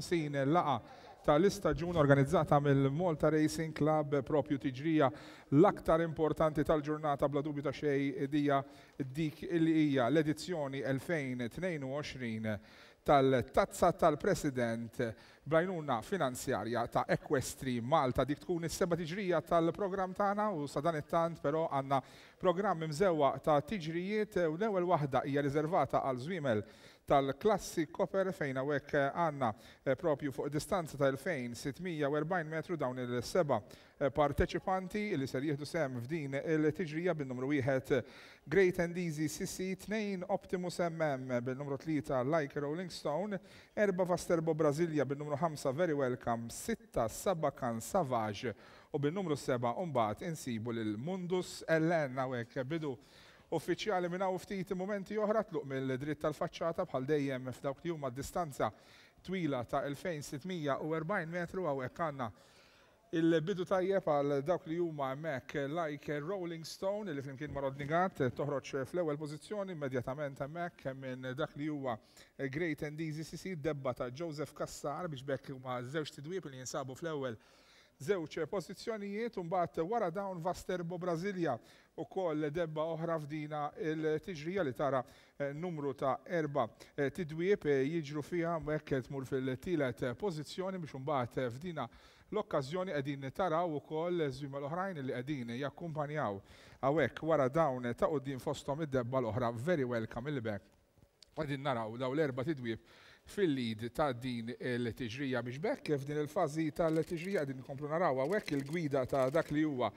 Il-55 laqgħa tal-istaġun organizzata mill-Malta Racing Club, propju tiġrija l-aktar importanti tal-ġurnata bla dubju ta' xejn dija dik li hija l-edizzjoni 2022 tal-Tazza tal-President bl-għajnuna finanzjarja ta' Equestri Malta. Dik tkun is-seba' tiġrija tal-programm tagħna u sadanittant però għandna programm imżewwaq ta' tiġrijiet u l-ewwel waħda hija riservata għal żwiemel tal-klassi Copper fejn hawnhekk għandna propju fuq distanza ta' 2640 metru dawn il-seba' parteċipanti li ser jieħdu sehem f'din il-tiġrija bin-numru wieħed Great and Easy CC, 2 Optimus MM bil-numru 3 Like a Rolling Stone, 4 Vasterbo Brasilia bin-numru 5 Very Welcome, 6 Sabakan Savage u bin-numru 7 mbagħad insibu lil Mundus LN. Hawnhekk bidu uffiċjali minn hawn ftit mumenti oħra, tluq mill-dritt tal-faċċata bħal dejjem f'dawk li huma distanza twila ta' 2640 metru. Hawnhekk għandna il-bidu tajjeb għal dawk li huma hemmhekk Like Rolling Stone li flimkien ma' Rodney Gatt toħroġ fl-ewwel pożizzjoni immedjatament hemmhekk minn dak li huwa Great and Easy CC, debba ta' Joseph Cassar, biex bekk huma żewġ tidwieb li jinsabu fl-ewwel żewġ pożizzjonijiet. U mbagħad wara dawn Vasterbo Brasilia ukoll debba oħra f'dina il-tiġrija li tara numru ta' erba' tidwieb jiġru fiha, hekk tmur fil-tielet pożizzjoni, biex imbagħad f'dina l-okkażjoni qegħdin taraw ukoll żwiemel oħrajn li qegħdin jakkumpanjaw hawnhekk wara dawn ta' quddiem, fosthom id-debba l-oħra Very Welcome, il bekk qegħdin naraw dawn l-erba' tidwieb fil-lead ta' din il-tiġrija, biex bekk f'din il-fażi tal-tiġrija qegħdin nkomplu naraw hawnhekk il-gwida ta' dak li huwa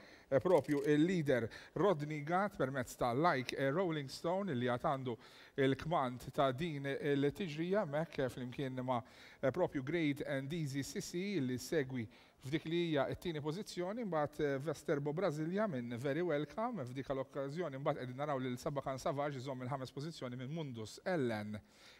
propju il-leader Rodney Gatt permezz ta' Like a Rolling Stone li għad għandu il-kmand ta' din il-tiġrija hemmhekk flimkien ma' propju Great and Easy CC li segwi f'dik li hija t-tieni pożizzjoni, mbagħad Vesterbo Brasilia minn Very Welcome f'dik l-okkażjoni. Mbagħad qegħdin naraw lil Sabakan Savage iżomm il-ħames pożizzjoni minn Mundus Ellen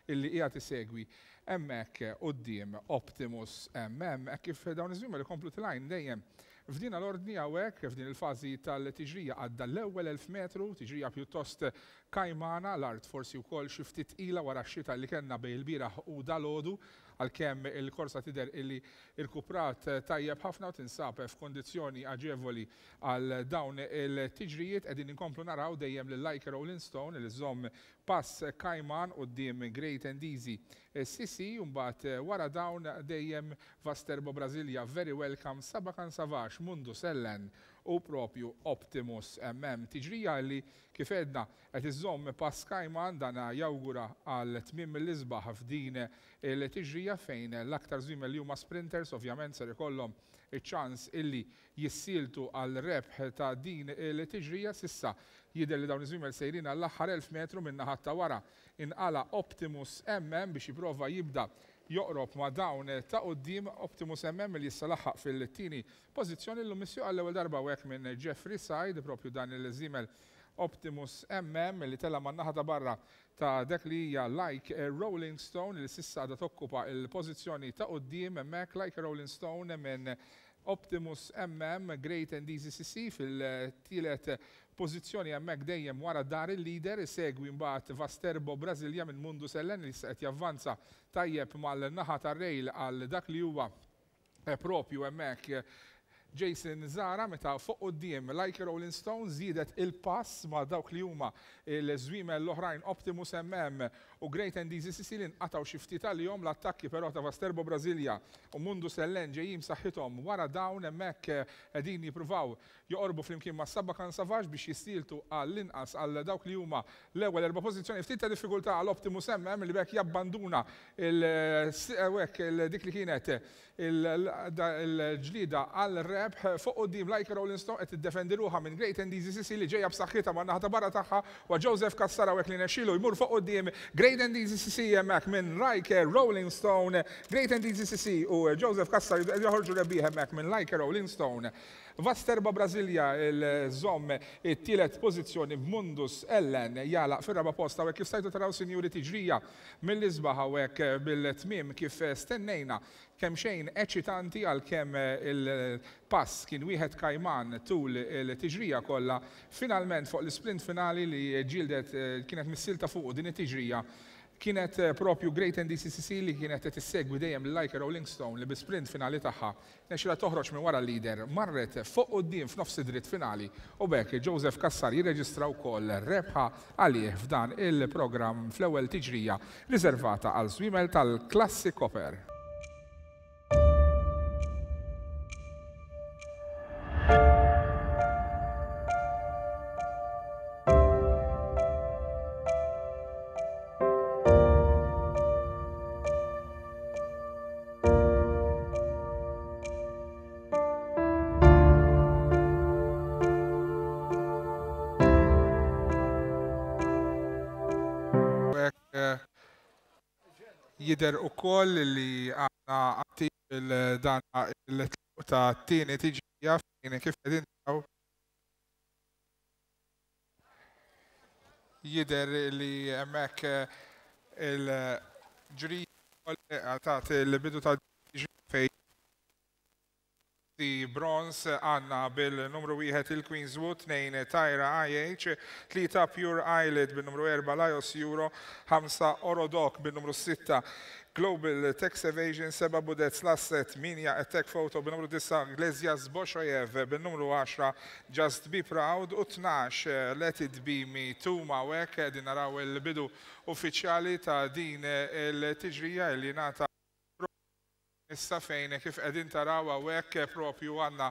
illi qiegħed isegwi hemmhekk quddiem Optimus MM, hekk kif dawn iż-żwiemel ikomplu tilgħin dejjem f'din l-ordni. Hawnhekk f'din il-fażi tal-tiġrija għadda l-ewwel 1000 metru, tiġrija pjuttost kajmana, l-art forsi wkoll xi ftit tqila wara x-xita li kellna bejn il-bieraħ u dalgħodu, għalkemm il-korsa tidher illi irkuprat tajjeb ħafna u tinsab f'kondizzjoni aġevoli għal dawn il-tiġrijiet. Qegħdin inkomplu naraw dejjem lil Like a Rolling Stone li żomm pass kajman quddiem Great and Easy CC, u mbagħad wara dawn dejjem Vasterbo Brasilia, Very Welcome, Sabakan Savage, Mundus Ellen u propju Optimus MM. Tiġrija li kif għedna qed iżomm pass kajman, dan jawgura għal tmiem mill-isbaħ f'din il-tiġrija fejn l-aktar żwiemel li huma sprinters ovvjament ser ikollhom iċ-ċans illi jissieltu għal rebħ ta' din il-tiġrija. S'issa jidher li dawn iż-żwiemel sejrin għall-aħħar 1000 metru. Minn naħat ta' wara inqala Optimus MM biex jipprova jibda joqrob ma' dawn ta' quddiem. Optimus MM li issa laħaq fil-tieni pożizzjoni, llum misjuq għall-ewwel darba hawnhekk minn Jeffrey Said, propju dan il-żiemel Optimus MM li tela' man-naħa ta' barra ta' dak li hija Like a Rolling Stone li s'issa għadha tokkupa l-pożizzjoni ta' quddiem hemmhekk. Like a Rolling Stone minn Optimus MM, Great and Easy CC fil-tielet pożizzjoni hemmhekk dejjem wara dar il-leader, isegwi mbagħad Vasterbo Brasilia minn Mundus Ellen li issa qed javvanza tajjeb mal-naħa tar-rail għal dak li huwa propju hemmhekk Jason Zara, meta fuq quddiem Like a Rolling Stone żiedet il-pass ma' dawk li huma l-żwiemel l-oħrajn Optimus MM u Great and Easy CC li nqatgħu xi ftit għalihom. L-attakki però ta' Vasterbo Brasilia u Mundus Ellen ġejjin b'saħħithom wara dawn hemmhekk, qegħdin jippruvaw joqorbu flimkien ma' Sabakan Savage biex jissieltu għall-inqas għal dawk li huma l-ewwel erba' pożizzjoni. Ftit ta' diffikultà għal Optimus MM li bekk jabbanduna dik li kienet il-ġlida għal rebħ. Fuq quddiem Like a Rolling Stone qed tiddefendi ruħha minn Great and Easy CC li ġejja b'saħħitha man-naħa ta' barra tagħha, wa Joseph Cassar hawnhekk li nexxielu jmur fuq quddiem Great and Easy CC hemmhekk minn Like a Rolling Stone. Great and Easy CC u Joseph Cassar joħorġu rebbieħ hemmhekk minn Like a Rolling Stone. Vasterba Brasilia iżżomm it-tielet pożizzjoni, b'Mundus Ellen jagħlaq fir-raba' post. Hawnhekk kif stajtu taraw, sinjuri, tiġrija mill-isbaħ hawnhekk bil-tmiem kif stennejna, kemm xejn eċitanti, għalkemm il-pass kien wieħed kajman tul il-tiġrija kollha. Finalment fuq l-isprint finali li ġildet kienet missielta fuq din it-tiġrija, Kienet propju Great NDCCC li kienet qed issegwi dejjem lil Like a Rolling Stone li bi sprint finali tagħha rnexxielha toħroġ minn wara l-leader, marret fuq quddiem f'nofs id-dritt finali u b'hekk Joseph Cassar jirreġistra wkoll rebħa għalih f'dan il-programm fl-ewwel tiġrija riservata għal żwiemel tal-Klassi Copper. Jidher ukoll li għandna attiv il-dan il-tluq ta' tieni tiġrija fejn kif qegħdin taraw jidher li hemmhekk il-ġurija tat il-bidu ta' tiġrija fejn Bronze għandna bil-numru 1 il-Queenswood, 2 Tyra IH, 3 Pure Eyelid bil-numru 4 Lajos Euro, 5 Orodok bil-numru 6 Global Tax Evasion, 7 Budets Lasset, 8 Attack Photo bil-numru 9 Iglesias Boshojev bil-numru 10 Just Be Proud u 12 Let It Be Me Tuma. U hekk qegħdin naraw il-bidu uffiċjali ta' din il-tiġrija li ngħata issa fejn kif qegħdin taraw hawnhekk propju għandna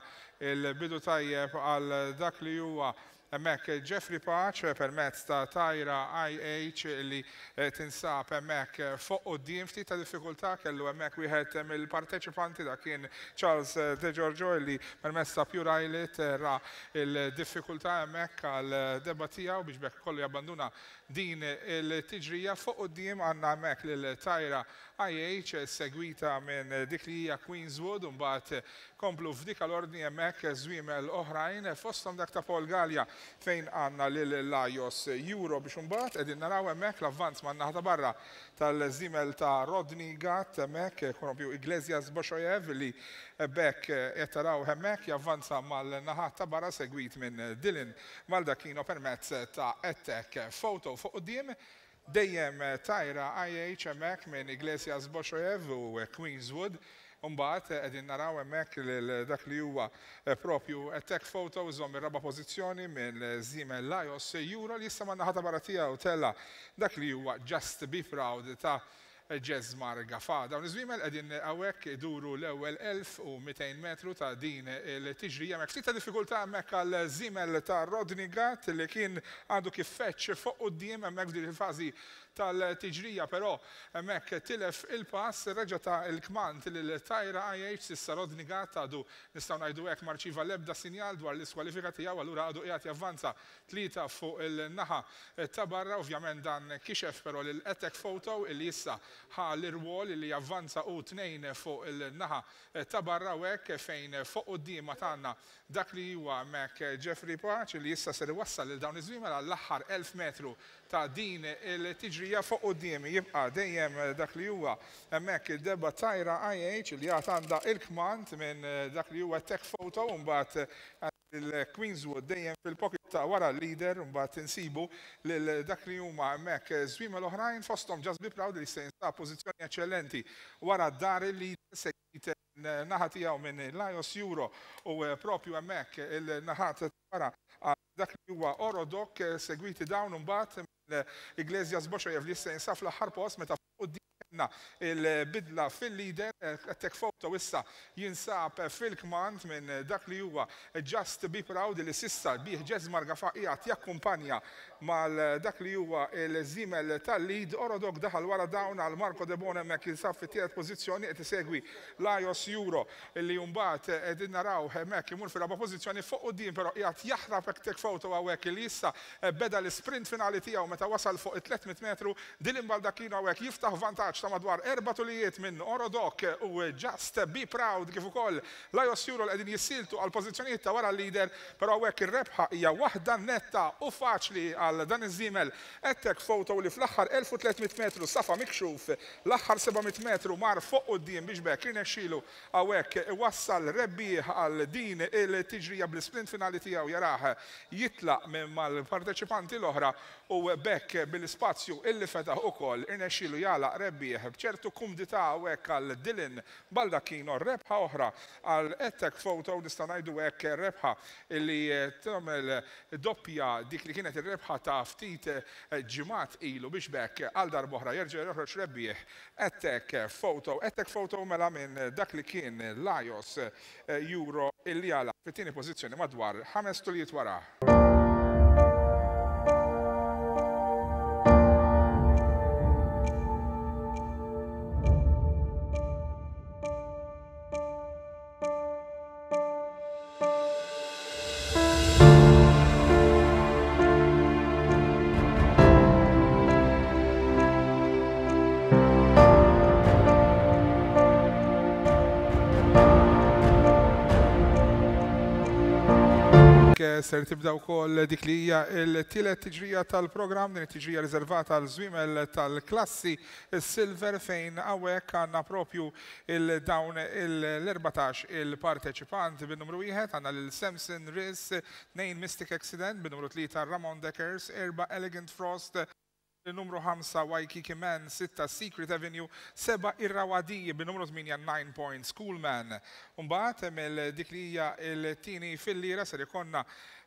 il-bidu tajjeb għal dak li huwa hemmhekk Jeffrey Pace permezz ta' Tyra IH li tinsab hemmhekk fuq quddiem. Ftit ta' diffikultà kellu hemmhekk wieħed mill-parteċipanti, dak kien Charles De Giorgio li permezz ta' Pure Eyelid ra il-diffikultà hemmhekk għal debba tiegħu biex b'hekk kollu jabbanduna din il-tiġrija. Fuq quddiem għandna hemmhekk lil Tyra IH segwita minn dik li hija Queenswood u mbagħad komplu f'dik l-ordni hemmhekk żwiemel oħrajn fosthom dak ta' Paul Galea fejn għandna lil Lajos Euro biex imbagħad qegħdin naraw hemmhekk l-avvanz man-naħa ta' barra tal-żiemel ta' Rodney Gatt hemmhekk propju Iglesias Boshojev li b'hekk qed taraw hemmhekk javvanza mal-naħat ta' barra segwit minn Dylan Maldacchino permezz ta' Attack Photo. Fuq quddiem dejjem Tyra IH hemmhekk minn Iglesias Boshojev u Queenswood. Mbagħad qegħdin naraw hemmhekk lil dak li huwa propju Attack Photo iżomm ir-raba' pożizzjoni minn żiemel Lajos Euro li issa man-naħa ta' barra tiegħu tella' dak li huwa Just Be Proud ta' Jesmar Gafa. Dawn iż-żwiemel qegħdin hawnhekk iduru l-ewwel 1200 metru ta' din il-tiġrija. Hemmhekk ftit ta' diffikultà hemmhekk għal żiemel ta' Rodney Gatt li kien għadu kif feġġ fuq quddiem hemmhekk f'din il-fażi tal-tiġrija, però hemmhekk tilef il-pass, reġa' ta l-kmand lil Tyra IH. S'issa Rodney Gatt għadu nistgħu ngħidu hekk ma rċieva l-ebda sinjal dwar l-iskwalifika tiegħu, allura għadu qiegħed javvanza 3 fuq il-naħa ta' barra. Ovvjament dan kixef però lil Attack Photo illi issa ħa l-irwol illi javvanza hu 2 fuq il-naħa ta' barra u hekk fejn fuq quddiem għad għandna dak li huwa hemmhekk Jeffrey Pace li issa ser iwassal lil dawn iż-żwiemel għall-aħħar 1000 metru ta' din il-tiġrija. Fuq quddiem jibqa' dejjem dak li huwa hemmhekk id-debba Tyra IH li għad għandha il-kmand minn dak li huwa Attack Photo u mbagħad il-Queenswood dejjem fil-pocket ta' wara l-leader. Mbagħad insibu lil dak li huma hemmhekk żwiemel oħrajn fosthom Just Be Proud li se jinsab pożizzjoni eċċellenti wara dar il-leader, segwit naħa tiegħu minn Lajos Euro u propju hemmhekk il-naħat wara dak li huwa Orodok, segwiti dawn mbagħad Iglesias Boshojev li issa jinsab fl-aħħar post meta quddiem kellna il-bidla fil-leader. Attack Photo issa jinsab fil-kmand minn dak li huwa Just Be Proud li s'issa bih Jesmar Gafa qiegħed jakkumpanja mal dak li huwa il-żiemel tal-lead. Orodok daħal wara dawn għal Marco De Bono hemmhekk jinsab fit-tielet pożizzjoni, qed isegwi Lajos Euro li mbagħad qegħdin naraw hemmhekk imur fir-raba' pożizzjoni. Fuq quddiem però qiegħed jaħrab Attack Photo hawnhekk li issa beda l-isprint finali tiegħu meta wasal fuq it-300 metru. Dylan Baldacchino hawnhekk jiftaħ vantaġġ ta' ta' madwar erba' tulijiet minn Orodoc u Just Be Proud kif ukoll Lajos Euro li qegħdin jissieltu għall-pożizzjonijiet ta' wara l-leader, però hawnhekk ir-rebħa hija waħda netta u faċli għal dan iż-żiemel Attack Photo li fl-aħħar 1300 metru safa mikxuf, l-aħħar 700 metru mar fuq quddiem biex b'hekk irnexxielu hawnhekk iwassal rebbieħ għal din il-tiġrija bl-isprint finali tiegħu jarah jitlaq minn mal-parteċipanti l-oħra u b'hekk bil-ispazju illi fetaħ ukoll irnexxielu jagħlaq rebbieħ b'ċertu kumdità hawnhekk għal Dylan Baldacchino rebħa oħra għal Attack Photo nistgħu ngħidu hekk rebħa illi tagħmel doppja dik li kienet ir-rebħa ta' ftit ġimgħat ilu biex b'hekk għal darb'oħra jerġa' joħroġ rebbieħ Attack Photo. Attack Photo mela minn dak li kien Lajos Euro illi għalaq fit-tieni pożizzjoni madwar ħames tulijiet wara. Ser tibda wkoll dik li hija l-tielet tiġrija tal-programm, din it-tiġrija riservata għal żwiemel tal-klassi Silver fejn hawnhekk għandna propju il-dawn l-14 il-parteċipant. Bin-numru wieħed għandna lil Samson Riss, 2 Mystic Accident, bin-numru 3 Ramon Deckers, 4 Elegant Frost, numru 5 Waikiki Man, 6 Secret Avenue, 7 Irrawaddy, bin-numru 8 9 Points Coolman. Mbagħad mill dik li hija l-tieni fil-lira ser ikollna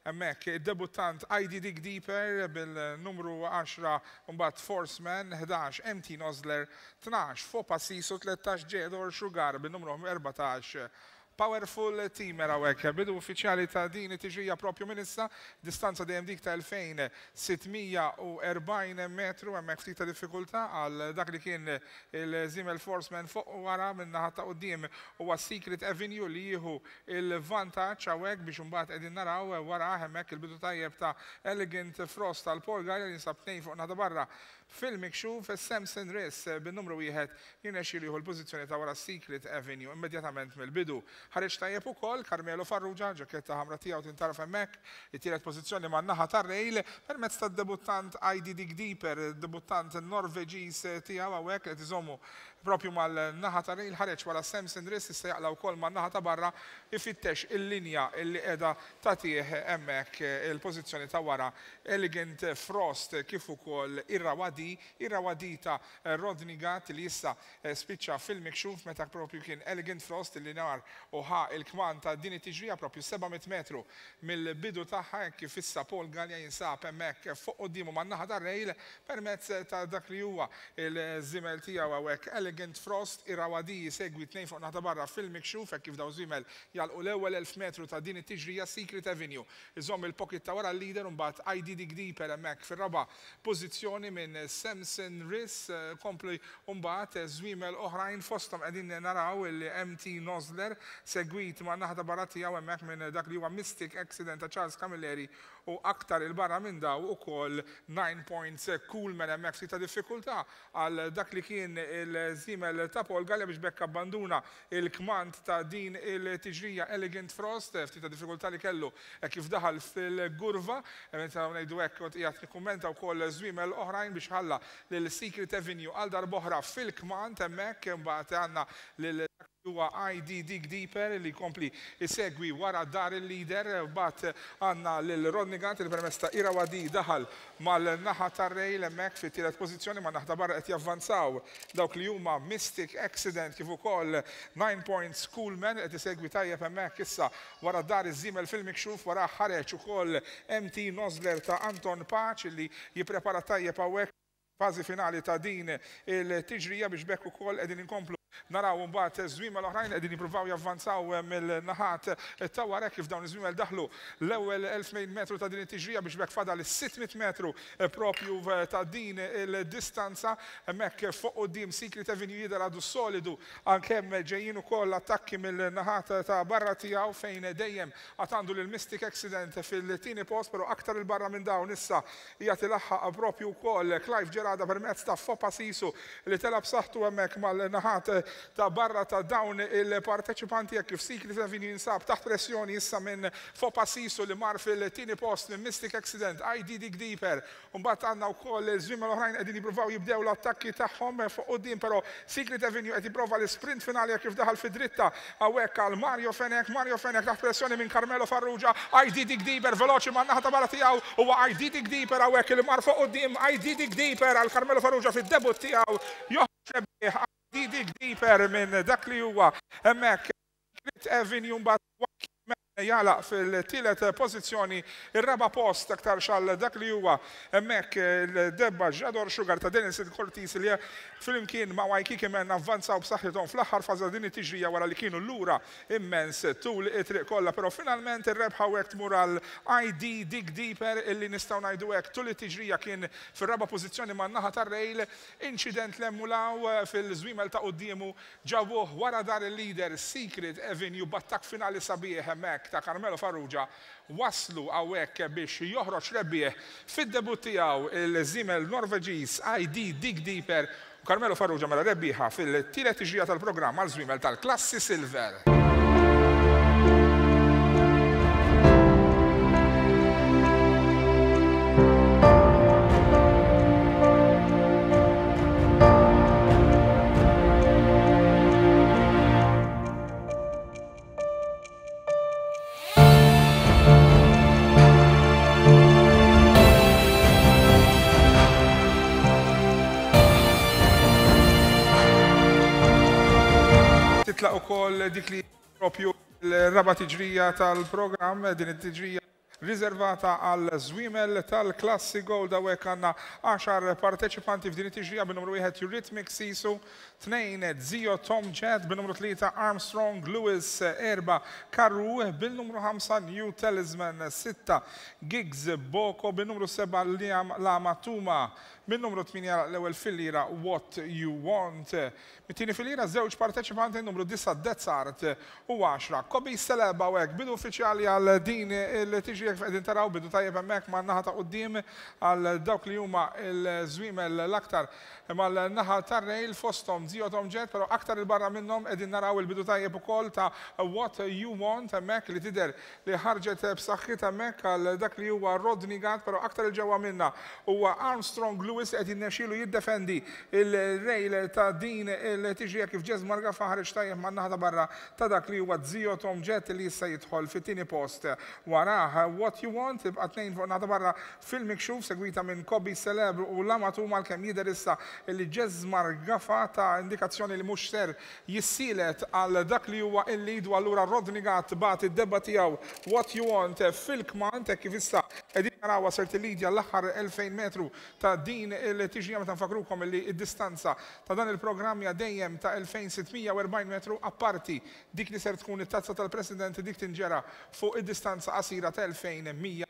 hemmhekk id-debuttant ID Dig Deeper bil-numru 10, mbagħad Forceman, 11 MT Nosler, 12 Fopa Sisu, 13 Jedor Sugar bin-numru 14 Powerful Teamer. Hawnhekk bidu uffiċjali ta' din it-tiġrija propju minn issa, distanza dejjem dik ta' 2640 metru, hemmhekk ftit ta' diffikultà għal dak li kien il-żiemel Forceman fuq wara. Minn naħa ta' quddiem huwa Secret Avenue li jieħu il-vantaġġ hawnhekk biex imbagħad qegħdin naraw wara hemmhekk il-bidu tajjeb ta' Elegant Frost tal Paul Galea li jinsab tnejn fuq naħa barra fil-mikxuf. Samson Riss bin-numru wieħed jirnexxielu jieħu l-pożizzjoni ta' wara Secret Avenue immedjatament mill-bidu. Ħareġ tajjeb ukoll Carmelo Farrugia, ġaketta ħamra tiegħu tintaraf hemmhekk, it-tielet pożizzjoni man-naħa tar-rail permezz tad-debuttant ID Dig Deeper, debuttant Norveġiż tiegħu hawnhekk li qed iżommu propju mal-naħa tar-rail. Ħareġ wara Samson Riss, issa jaqla' wkoll man-naħa ta' barra ifittex il-linja li qiegħda tagħtih hemmhekk il-pożizzjoni ta' wara Elegant Frost kif ukoll Irrawaddy, Irrawaddy ta' Rodney Gatt li issa spiċċa fil-mikxuf meta propju kien Elegant Frost li nar u ħa l-kmand ta' din it-tiġrija propju 700 metru mill-bidu tagħha, hekk kif issa Paul Galea jinsab hemmhekk fuq quddiemu man-naħa tar-rail permezz ta' dak li huwa l-żiemel tiegħu hawnhekk Elegant Frost. Irrawaddy jsegwi tnejn fuq naħa ta' barra fil-mikxuf hekk kif dawn żwiemel jagħlqu l-ewwel 1000 metru ta' din it-tiġrija. Secret Avenue iżomm il-pocket ta' wara l-leader u mbagħad ID Dig Deeper hemmhekk fir-raba' pożizzjoni minn Samson Riss. Kompli mbagħad żwiemel oħrajn, fosthom qegħdin naraw il-MT Nosler segwit man-naħa ta' barra tiegħu hemmhekk minn dak li huwa Mystic Accident ta' Charles Camilleri u aktar 'il barra minn daw ukoll 9 Points Coolman. Hemmhekk ftit ta' diffikultà għal dak li kien il-żiemel ta' Paul Galea biex b'hekk abbanduna il-kmand ta' din il-tiġrija Elegant Frost, ftit ta' diffikultà li kellu hekk kif daħal fil-gurva, nistgħu ngħidu hekk. Kont qiegħed nikkummenta wkoll żwiemel oħrajn biex ħalla lil Secret Avenue għal darb'oħra fil-kmand hemmhekk. Imbagħad għandna lil dak li huwa ID Dig Deeper li jkompli jsegwi wara dar il-leader. Imbagħad għandna lil Rodney Gant li permezz ta' Irrawaddy daħal mal-naħa tar-rail hemmhekk fit-tielet pożizzjoni. Man-naħa ta' barra qed javvanzaw dawk li huma Mystic Accident kif ukoll 9 Points Coolman qed isegwi tajjeb hemmhekk issa wara dar iż-żiemel fil-mikxuf. Warah ħareġ ukoll MT Nosler ta' Anton Paċ li jipprepara tajjeb hawnhekk fażi finali ta' din il-tiġrija biex b'hekk ukoll qegħdin inkomplu Naraw imbagħad żwiemel oħrajn qegħdin jippruvaw javvanzaw mill-naħat ta' wara hekk kif dawn iż-żwiemel daħlu l-ewwel 2,200 metru ta' din it-tiġrija biex b'hekk fadal is-600 metru proprju ta' din il-distanza. Hemmhekk fuq quddiem Secret Avenue jidher għadu solidu għalkemm ġejjin ukoll attakki mill-naħat ta' barra tiegħu fejn dejjem għad għandu lil Mystic Accident fil-tieni post però aktar 'il barra minn dawn issa Qiegħed ilaħħaq proprju wkoll Clive Gerada permezz ta' Fopa Sisu li tela' b'saħħtu hemmhekk mal-naħat ta' barra ta' dawn il-parteċipanti hekk kif Secret Avenue jinsab taħt pressjoni issa minn Fopa Sisu li mar fil-tieni post minn Mystic Accident, ID Dig Deeper. Mbagħad għandna wkoll żwiemel oħrajn qegħdin jippruvaw jibdew l-attakki tagħhom fuq quddiem però Secret Avenue qed jipprova l-isprint finali hekk kif daħal fid-dritta Hawnhekk għal Mario Fenech, Mario Fenech taħt pressjoni minn Carmelo Farrugia, ID Dig Deeper veloċi man-naħa ta' barra tiegħu, huwa ID Dig Deeper hawnhekk li mar fuq quddiem, ID Dig Deeper għal Carmelo Farrugia fid-debutt tiegħu joħroġ rebbieħ ID Dig Deeper minn dak li huwa hemmhekk Secret Avenue mbagħad Jagħlaq fil-tielet pożizzjoni, ir-raba' post aktarx għal dak li huwa hemmhekk il-debba J'adore Sugar ta' Denilson Cortis li flimkien ma' Waikiki Man avvanzaw b'saħħithom fl-aħħar fażi ta' din it-tiġrija wara li kienu lura immens tul it-triq kollha. Però finalment ir-rebħa hawnhekk tmur għal ID Dig Deeper illi nistgħu ngħidu hekk tul it-tiġrija kien fir-raba' pożizzjoni man-naħa tar-rail. Inċident 'l hemm u 'l hawn fil-żwiemel ta' quddiemu Ġabuh wara dar il-leader Secret Avenue b'attakk finali sabiħ hemmhekk ta' Carmelo Farrugia wasslu hawnhekk biex joħroġ rebbieħ fid-debutt tiegħu il-żiemel Norveġiż ID Dig Deeper u Carmelo Farrugia mela rebbieħa fil-tielet tiġrija tal-programm għal żwiemel tal-klassi Silver. Titlaq ukoll dik li propju l-raba' tiġrija tal-programm, din it-tiġrija Riżervata għal żwiemel tal-klassi Gold hawnhekk għandna għaxar parteċipanti f'din it-tiġrija bin-numru wieħed Eurythmics Sisu, tnejn Zio Tom Jet, bin-numru tlieta Armstrong Lewis, erba' Karoo, bin-numru ħamsa New Talisman, sitta Giggs Boko, bin-numru seba' Liam Lama Tuma, bin-numru tmienja l-ewwel filliera What You Want. Mit-tieni filira żewġ parteċipanti numru 9 Dezart u 10 Kobe Celeb hawnhekk bidu uffiċjali għal din il-tiġrija kif qegħdin taraw bidu tajjeb hemmhekk man-naħa ta' quddiem għal dawk li huma l-żwiemel l-aktar mal-naħa tar-rail fosthom Zio Tom Jet però aktar 'il barra minnhom qegħdin naraw il-bidu tajjeb ukoll ta' What You Want hemmhekk li tidher li ħarġet b'saħħitha hemmhekk għal dak li huwa Rodney Gatt però aktar 'il ġewwa minnha huwa Armstrong Lewis li qed jirnexxielu jiddefendi l-rail ta' din il-tiġrija kif Jesmar Gafa ħareġ tajjeb man-naħa ta' barra ta' dak li huwa Zio Tom Jet li issa jidħol fit-tieni post warah What You Want tibqa' tnejn fuq in-naħa ta' barra fil-mikxuf segwita minn Kobe Celeb u Lama Tuma għalkemm jidher issa li Jesmar Gafa ta indikazzjoni li mhux ser jissielet għal dak li huwa il-lead u allura Rodney Gatt bagħat id-debba tiegħu What You Want fil-kmand hekk kif issa qegħdin narawha ser tillidja l-aħħar 2000 metru ta' din il-tiġrija meta nfakkrukom li d-distanza ta' dan il-programm hija dejjem ta' 2640 metru apparti dik li ser tkun it-Tazza tal-President dik tinġera fuq id-distanza qasira ta' 2140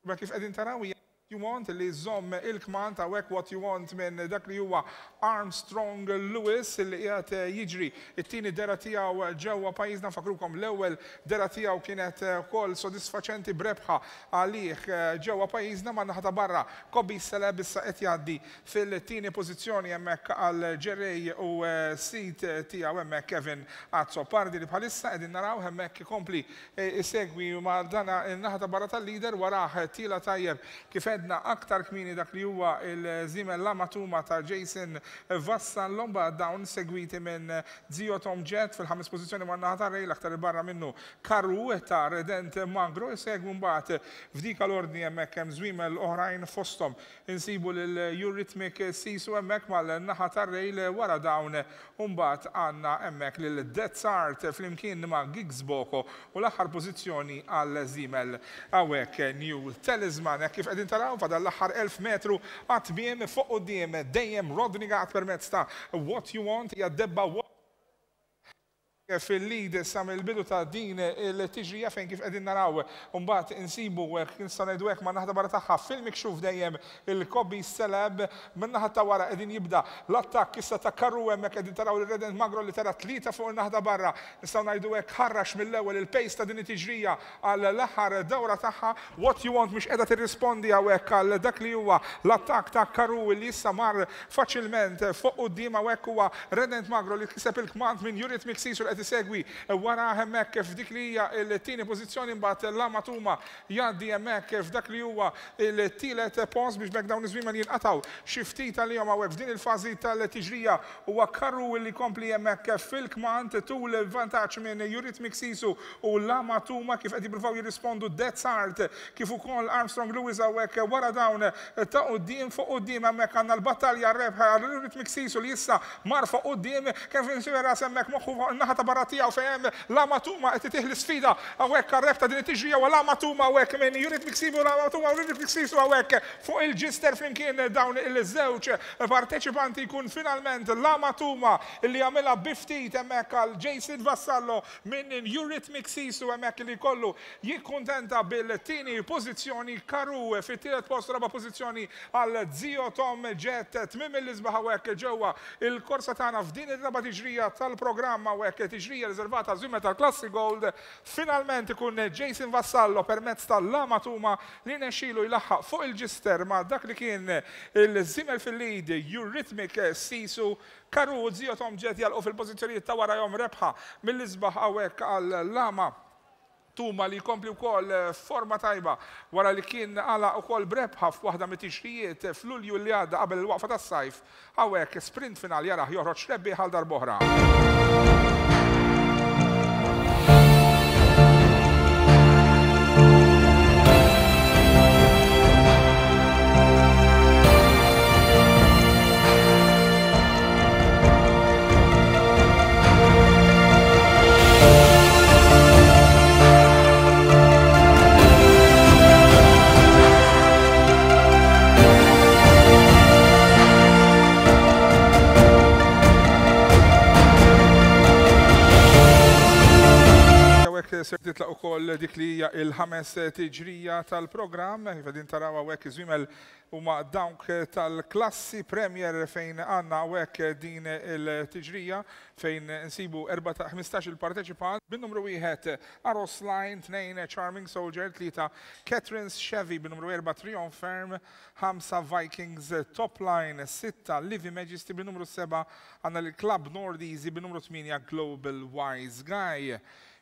Imma kif qegħdin taraw hija What You Want li żżomm il-kmand hawnhekk What You Want minn dak li huwa Armstrong Lewis li qiegħed jiġri t-tieni dehra tiegħu ġewwa pajjiżna. Nfakkrukom l-ewwel dehra tiegħu kienet ukoll sodisfaċenti b'rebħa għalih ġewwa pajjiżna man-naħa ta' barra. Kobe Celeb issa qed jgħaddi fil-tieni pożizzjoni hemmhekk għall-ġerrej u sid tiegħu hemmhekk Kevin Azzopardi li bħalissa qegħdin narawh hemmhekk ikompli Isegwi ma' dan in-naħa ta' barra tal-leader, warah tiela' tajjeb kif għedna aktar kmieni dak li huwa l-żiemel Lama Tuma ta' Jason Vassallo, mbagħad dawn segwiti minn Zio Tom Jet fil-ħames pożizzjoni man-naħa ta' Rail, aktar 'il barra minnu Karoo ta' Redent Magro, isegwu mbagħad f'dika l-ordni hemmhekk hemm żwiemel oħrajn fosthom insibu lil Eurythmic Sisu hemmhekk mal-naħa tar-rail wara dawn u mbagħad għandna hemmhekk lil Death's Art flimkien ma' Giggs Boko u l-aħħar pożizzjoni għal żiemel hawnhekk New Talisman. Hekk kif qegħdin taraw. naraw fadal l-aħħar 1000 metru għat-tmiem fuq quddiem dejjem Rodney Gatt permezz ta' What You Want hija debba fil-lead sa mill-bidu ta' din il-tiġrija fejn kif qegħdin naraw mbagħad insibu nistgħu ngħidu hekk man-naħa ta' barra tagħha fil-mikxuf dejjem il-Kobe Celeb. Min-naħa ta' wara qegħdin jibda l-attakk issa ta' Karru hemmhekk qegħdin taraw lil Redent Magro li tela' tlieta fuq in-naħa ta' barra. Nistgħu ngħidu hekk ħarrax mill-ewwel il-pace ta' din it-tiġrija għal l-aħħar dawra tagħha. What You Want mhix qiegħda tirrispondi hawnhekk għal dak li huwa l-attakk ta' Karru li issa mar faċilment fuq quddiem. Hawnhekk huwa Redent Magro li kiseb il-kmand minn Eurythmic Sisu li qed isegwi warah hemmhekk f'dik li hija l-tieni pożizzjoni. Imbagħad Lama Tuma jgħaddi hemmhekk f'dak li huwa l-tielet post biex b'hekk dawn iż-żwiemel jinqatgħu xi ftit għalihom hawnhekk f'din il-fażi tal-tiġrija. Huwa Karru li jkompli hemmhekk fil-kmand tul vantaġġ minn Eurythmic Sisu u Lama Tuma kif qed jippruvaw jirrispondu Death's Art kif ukoll Armstrong Lewis hawnhekk wara dawn ta' quddiem. Fuq quddiem hemmhekk għandna l-battalja għar-rebħ għal Eurythmic Sisu li issa mar fuq quddiem. Kevin Sciberras hemmhekk moħħu fuq in-naħa ta' barra tiegħu fejn hemm Lama Tuma qed itih l-isfida hawnhekk għar-rebħ ta' din it-tiġrija. Huwa Lama Tuma hawnhekk minn Eurythmic Sisu, Lama Tuma u Eurythmic Sisu hawnhekk fuq il-ġister flimkien dawn il-żewġ parteċipanti. Jkun finalment Lama Tuma li jagħmilha bi ftit hemmhekk għal Jason Vassallo minn Eurythmic Sisu hemmhekk li jkollu jikkuntenta bil-tieni pożizzjoni. Karu fit-tielet post, raba' pożizzjoni għal Zio Tom Jet. Tmiem mill-isbaħ hawnhekk ġewwa il-korsa tagħna f'din ir-raba' tiġrija tal-programm hawnhekk, tiġrija riservata għaż-żwiemel tal-Klassi Gold. Finalment ikun Jason Vassallo permezz ta' Lama Tuma li rnexxielu jlaħħaq fuq il-ġister ma' dak li kien il-żiemel fil-lead Eurythmic Sisu. Karu u Zio Tom Jet jagħlqu fil-pożizzjonijiet ta' warajhom. Rebħa mill-isbaħ hawnhekk għal Lama Tuma li jkompli wkoll f'forma tajba wara li kien għalaq ukoll b'rebħa f'waħda mit-tiġrijiet f'Lulju li għadda qabel il-waqfa tas-sajf. Hawnhekk sprint final jarah joħroġ rebbieħ għal darb'oħra. Hawnhekk ser titlaq ukoll dik li hija il-ħames tiġrija tal-programm. Kif qegħdin taraw hawnhekk iż-żwiemel huma dawk tal-klassi Premier fejn għandna hawnhekk din il-tiġrija fejn insibu 15 il-parteċipant bin-numru wieħed Aros Line, 2 Charming Soldier, 3 Catherine's Chevy, bin-numru 4 Triumph Firm, 5 Vikings Top Line, 6 Livy Majesty, bin-numru 7 għandna lil Club Nord Easy, bin-numru 8 Global Wise Guy.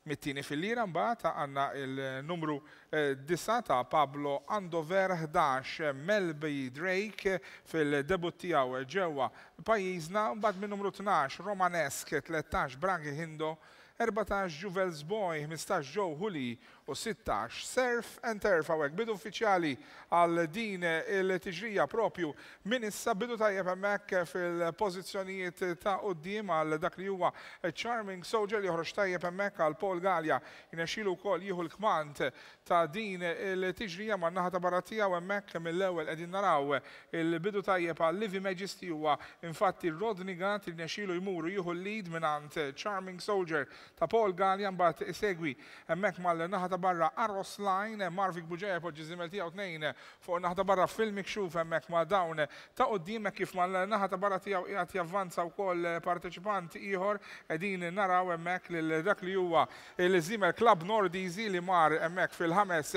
Mit-tieni filliera mbagħad għandna il-numru 9 ta' Pablo Andover, 11 Melby Drake fil-debutt tiegħu ġewwa pajjiżna, mbagħad min-numru 12 Romanesque, 13 Bragi Hindo, 14 Juvels Boy, 15 Joe Hooley u 16 Surf and Turf. Hawnhekk bidu uffiċjali għal din il-tiġrija propju minn issa, bidu tajjeb hemmhekk fil-pożizzjonijiet ta' quddiem għal dak li huwa Charming Soldier li joħroġ tajjeb hemmhekk għal Paul Galea. Jirnexxielu wkoll jieħu l-kmand ta' din il-tiġrija man-naħa ta' barra tiegħu hemmhekk mill-ewwel qegħdin naraw il-bidu tajjeb għal Livy Majesty. Huwa infatti Rodney Gatt li rnexxielu jmur u jieħu l-lead mingħand Charming Soldier ta' Paul Galea, mbagħad isegwi hemmhekk mal-naħa ta' barra Aros Line. Marvic Bugeja jpoġġi ż-żiemel tiegħu tnejn fuq in-naħa ta' barra fil-mikxuf hemmhekk ma' dawn ta' quddiem hekk kif mal-naħa ta' barra tiegħu qiegħed javvanza wkoll parteċipant ieħor. Qegħdin naraw hemmhekk lil dak li huwa il-żiemel Club Nord Easy li mar hemmhekk fil-ħames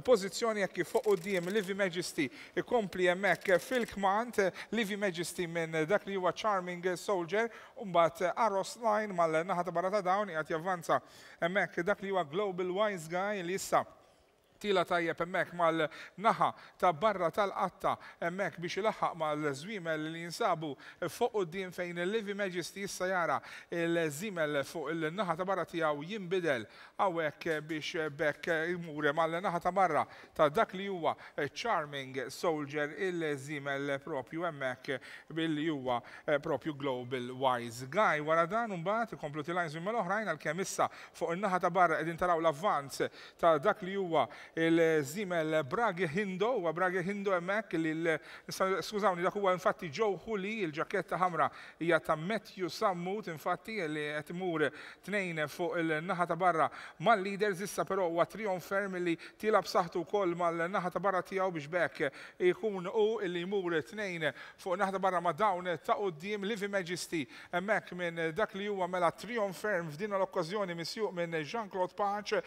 pożizzjoni hekk kif fuq quddiem Livy Majesty ikompli hemmhekk fil-kmand. Livy Majesty minn dak li huwa Charming Soldier u mbagħad Aros Line mal-naħa ta' barra ta' dawn qiegħed javvanza hemmhekk dak li huwa Global Wise Guy li issa tiela' tajjeb hemmhekk mal-naħa ta' barra tal-qatta hemmhekk biex ilaħħaq mal-żwiemel li jinsabu fuq quddiem fejn Livy Majesty issa jara l-żiemel fuq il-naħa ta' barra tiegħu jinbidel hawnhekk biex b'hekk imur mal-naħa ta' barra ta' dak li huwa Charming Soldier il-żiemel propju hemmhekk billi huwa propju Global Wise Guy. Wara dan imbagħad ikomplu tilgħin żwiemel oħrajn għalkemm issa fuq in-naħa ta' barra qegħdin taraw l-avvanz ta' dak li huwa il-żiemel Bragi Hindo, huwa Bragi Hindo hemmhekk li skużawni dak huwa infatti Joe Huli, il-ġaketta ħamra hija ta' Matthew Sammut infatti li qed imur tnejn fuq il-naħa ta' barra mal-leaders issa però huwa Trionferm li tiela' b'saħħtu wkoll mal-naħa ta' barra tiegħu biex b'hekk ikun hu li jmur tnejn fuq naħa ta' barra ma' dawn ta' quddiem. Livy Majesty hemmhekk minn dak li huwa mela Trionferm f'din l-okkażjoni misjuq minn Jean Claude Pace.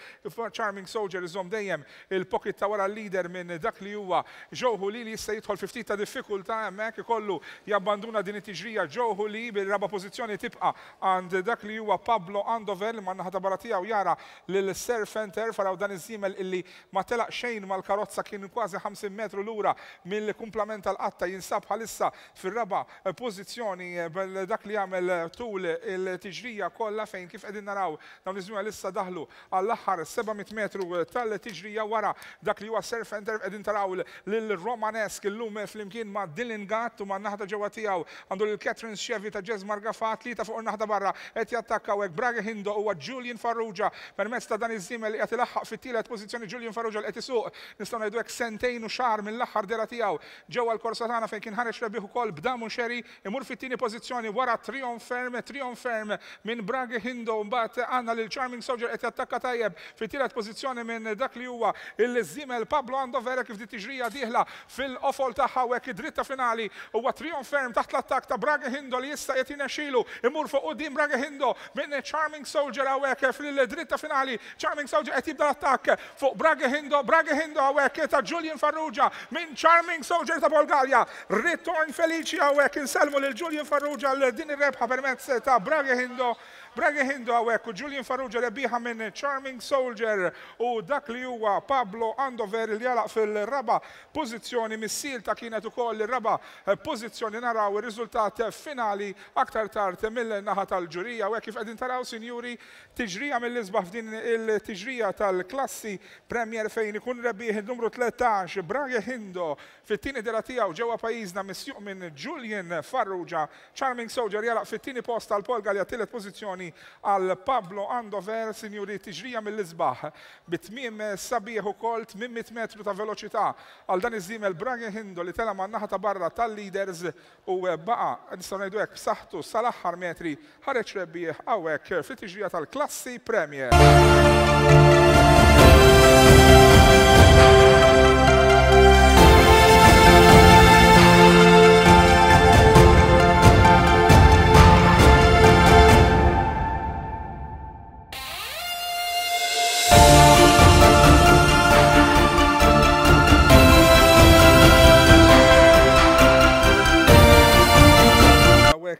Charming Soldier iżomm dejjem il-pocket ta' wara l-leader minn dak li huwa Joe Houli li issa jidħol fi ftit ta' diffikultà hemmhekk ikollu jabbanduna din it-tiġrija Joe Houli bir-raba' pożizzjoni tibqa' għand dak li huwa Pablo Andover li man-naħa ta' barra tiegħu jara lil Serfenter faraw dan iż-żiemel illi ma telaq xejn mal-karozza kien kważi 50 metru lura mill-kumplament tal-qatta jinsab bħalissa fir-raba' pożizzjoni dak li għamel tul il-tiġrija kollha fejn kif qegħdin naraw dawn iż-żwiemel issa daħlu għall-aħħar 700 metru tal-tiġrija wara dak li huwa Serfenter qegħdin taraw lil Romanesque illum flimkien ma' Dylan Gatt u man-naħa ta' ġewwa tiegħu għandu lil Catherine Chevy ta' Jesmar Gafà tlieta fuq in-naħa ta' barra qed jattakkaw hekk Brage Hindo huwa Julian Farrugia permezz ta' dan iż-żiemel li qiegħed ilaħħaq fit-tielet pożizzjoni Julian Farrugia li qed isuq nistgħu ngħidu hekk sentejn u xahar mill-aħħar dehra tiegħu ġewwa l-korsa tagħna fejn kien ħareġ rebbieħ ukoll b'Damu Sherry imur fit-tieni pożizzjoni wara Trionferm Trionferm minn Brage Hindo mbagħad għandna lil Charming Soldier qed jattakka tajjeb fit-tielet pożizzjoni minn dak li huwa l-żiemel Pablo Andover kif dit-tiġrija dieħla fil-qofol tagħha u hekk id-dritta finali huwa Trionferm taħt l-attakk ta' Brage Hindo li issa qed jirnexxilu imur fuq quddiem Brage Hindo minn Charming Soldier hawnhekk fil-dritta finali Charming Soldier qed jibda l-attakk fuq Brage Hindo, Brage Hindo hawnhekk ta' Julian Farrugia minn Charming Soldier ta' Bulgarja. Ritorn feliċi hawnhekk insellmu lil Julian Farrugia għal din ir-rebħa permezz ta' Brage Hindo. Brage Hindo hawnhekk u Julian Farrugia rebbieħa minn Charming Soldier u dak li huwa Pablo Andover li għalaq fil-raba' pożizzjoni mis-silta kienet ukoll ir-raba' pożizzjoni naraw ir-riżultat finali aktar tard mill-naħa tal-ġurija u hekk kif qegħdin taraw sinjuri Tiġrija mill-isbaħ f'din il-tiġrija tal-klassi Premier fejn ikun rebbieħ in-numru 13 Brage Hindo fit-tieni dehra tiegħu ġewwa pajjiżna misjuq minn Julian Farrugia. Charming Soldier jagħlaq fit-tieni post għal Paul Galea tielet pożizzjoni għal Pablo Andover. Sinjuri tiġrija mill-isbaħ bi tmiem sabiħ ukoll 800 metru ta' veloċità għal dan iż-żiemel Brage Hindo li tela' man-naħa ta' barra tal-leaders u baqa', nistgħu ngħidu hekk, b'saħħtu sal-aħħar metri, ħareġ rebbieħ hawnhekk fit-tiġrija tal-Klassi Premier.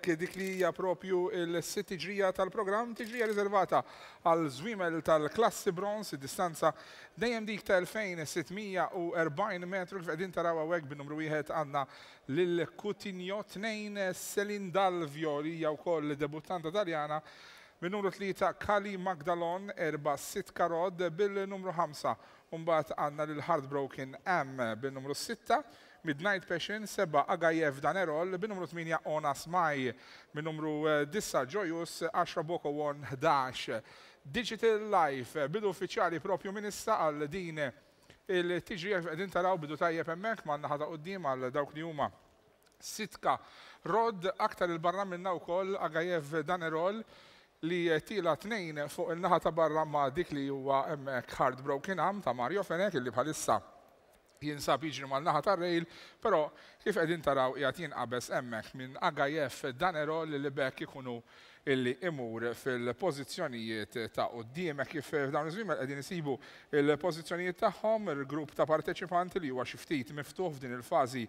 Hawnhekk dik li hija propju l-sitt tiġrija tal-programm, tiġrija riservata għal żwiemel tal-klassi bronz, id-distanza dejjem dik ta' 2640 metru kif qegħdin taraw hawnhekk bin-numru wieħed għandna lil Coutinho, tnejn Celine Dalvio li hija wkoll debuttanta Taljana Min-numru 3 Kali Magdalon, 4 Sitka Rod bil-numru 5 u mbagħad għandna lil Heartbroken Am bin-numru 6, Midnight Passion, 7 Agayev Danerol bin-numru 8 Onas Mai, min-numru 9 Joyous, 10 Boko Won, 11 Digital Life. Bidu uffiċjali propju minn issa għal din il-tiġrija kif qegħdin taraw bidu tajjeb hemmhekk man-naħa ta' quddiem għal dawk li huma Sitka Rod, aktar 'il barra minnha wkoll Agayev Danerol li tiela' tnejn fuq in-naħa ta' barra ma' dik li huwa hemmhekk Heartbroken Am ta' Mario Fenech illi bħalissa jinsab jiġri man-naħa tar-rail, però kif qegħdin taraw qiegħed jinqabeż hemmhekk minn Agayev Danerol li b'hekk ikun hu illi imur fil-pożizzjonijiet ta' quddiem. Hekk kif f'dawn iż-żwiemel qegħdin isibu l-pożizzjonijiet tagħhom, il-grupp ta' parteċipanti li huwa xi ftit miftuħ f'din il-fażi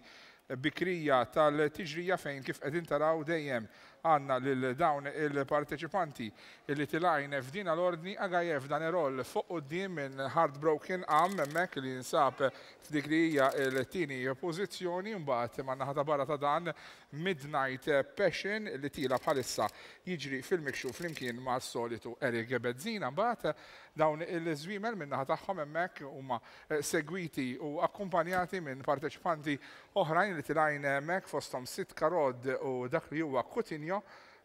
bikrija tal-tiġrija fejn kif qegħdin taraw dejjem għandna lil dawn il-parteċipanti li tilgħin f'dina l-ordni, Agayev Danerol fuq quddiem minn Heartbroken Am hemmhekk li jinsab f'dik li hija l-tieni pożizzjoni, mbagħad man-naħa ta' barra ta' dan Midnight Passion li tiela' bħalissa jiġri fil-mikxuf flimkien mas-solitu Eric Bezzina. Mbagħad dawn il-żwiemel min-naħa tagħhom hemmhekk huma segwiti u akkumpanjati minn parteċipanti oħrajn li tilgħin hemmhekk fosthom Sitka Rod u dak li huwa Coutinho.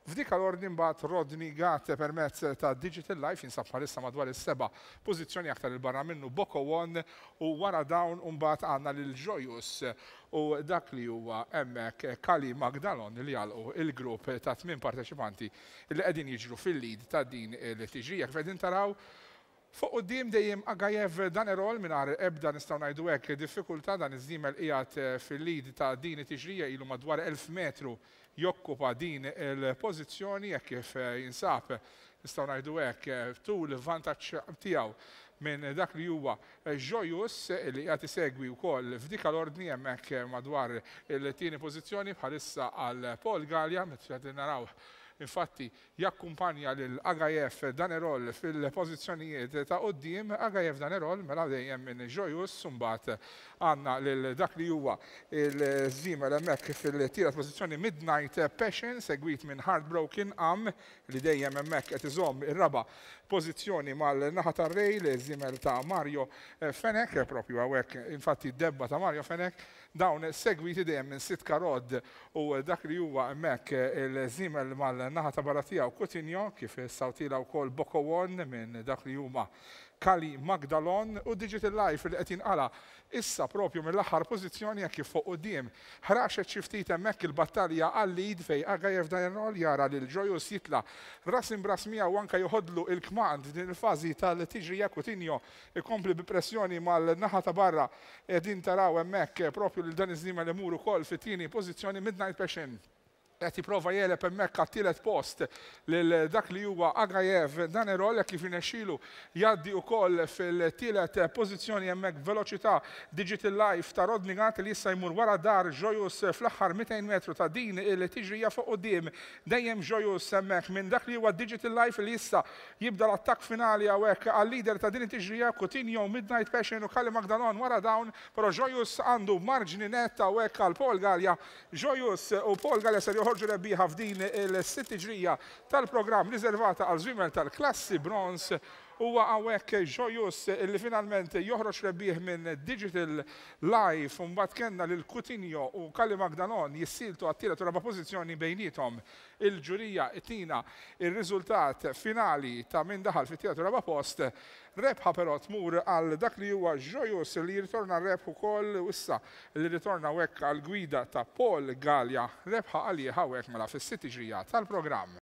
F'dik l-ordni mbagħad Rodney Gatt permezz ta' Digital Life jinsab bħalissa madwar is-seba' pożizzjoni aktar 'il barra minnu Boko One u wara dawn mbagħad għandna lil Joyous u dak li huwa hemmhekk Kali Magdalon li jagħlqu il-grupp ta' tmien parteċipanti li qegħdin jiġru fil-lead ta' din il-tiġrija. Kif qegħdin taraw Fuq quddiem dejjem Agayev Danerol mingħajr ebda nistgħu ngħidu hekk diffikultà dan iż-żiemel qiegħed fil-lead ta' din it-tiġrija ilu madwar 1000 metru jokkupa din il-pożizzjoni hekk kif jinsab nistgħu ngħidu hekk tul vantaġġ tiegħu minn dak li huwa Joyous li qiegħed isegwi wkoll f'dik l-ordni hemmhekk madwar il-tieni pożizzjoni bħalissa għal Paul Galea meta qegħdin naraw infatti Jakkumpanja lil Agayev Danerol fil-pożizzjonijiet ta' quddiem. Agayev Danerol mela dejjem minn Joyous u mbagħad għandna lil dak li huwa l-żiemel hemmhekk fil-tielet pożizzjoni Midnight Passion segwit minn Heartbroken Am li dejjem hemmhekk qed iżomm ir-raba' pożizzjoni mal-naħa tar-rail, żiemel ta' Mario Fenech, propju hawnhekk infatti d-debba ta' Mario Fenech. Dawn segwiti dejjem minn Sitka Rod u dak li huwa hemmhekk il-żiemel mal-naħa ta' barra tiegħu Coutinho, kif issa tiela' wkoll Bokowon minn dak li huma Kali Magdalon u Digital Life li qed jinqala' issa propju mill-aħħar pożizzjoni hekk kif fuq quddiem ħraxet xi ftit hemmhekk il-battalja għal-lead fejn Agayev Dayanol jara lil Joyous jitla' ras imb'ras miegħu u anke joħodlu l-kmand f'din il-fażi tal-tiġrija Coutinho ikompli bi pressjoni mal-naħa ta' barra Qegħdin taraw hemmhekk propju lil dan iż-żiemel imur ukoll fit-tieni pożizzjoni Midnight Passion qed jipprova jegħleb hemmhekk għat-tielet post lil dak li huwa Agayev Danerol hekk kif jirnexxielu jgħaddi wkoll fil-tielet pożizzjoni hemmhekk b'veloċità Digital Life ta' Rodney Gatt li issa jmur wara dar Joyous fl-aħħar 200 metru ta' din il-tiġrija fuq quddiem dejjem Joyous hemmhekk minn dak li huwa Digital Life li issa Jibda l-attakk finali hawnhekk għal-leader ta' din it-tiġrija, Coutinho, Midnight Passion u Kali Magdalon wara dawn, però Joyous għandu marġni nett hawnhekk għal Paul Galea. Joyous u Paul Galea ser joħorġu rebbieħa f'din il-sitt tiġrija tal-programm riservata għal żwiemel tal-klassi Bronze. Huwa hawnhekk Joyous li finalment joħroġ rebbieħ minn Digital Life u mbagħad kellna lil Coutinho u Kali Magdalon jissieltu għat-tielet u raba' pożizzjoni bejniethom. Il-ġurija tina r-riżultat finali ta' min daħal fit-tielet u raba' post. Rebħa però tmur għal dak li huwa Joyous li jirritorna r-rebħ ukoll u issa li rritorna hawnhekk għall-gwida ta' Paul Galea. Rebħa għalih hawnhekk mela fis-sitt tiġrija tal-programm.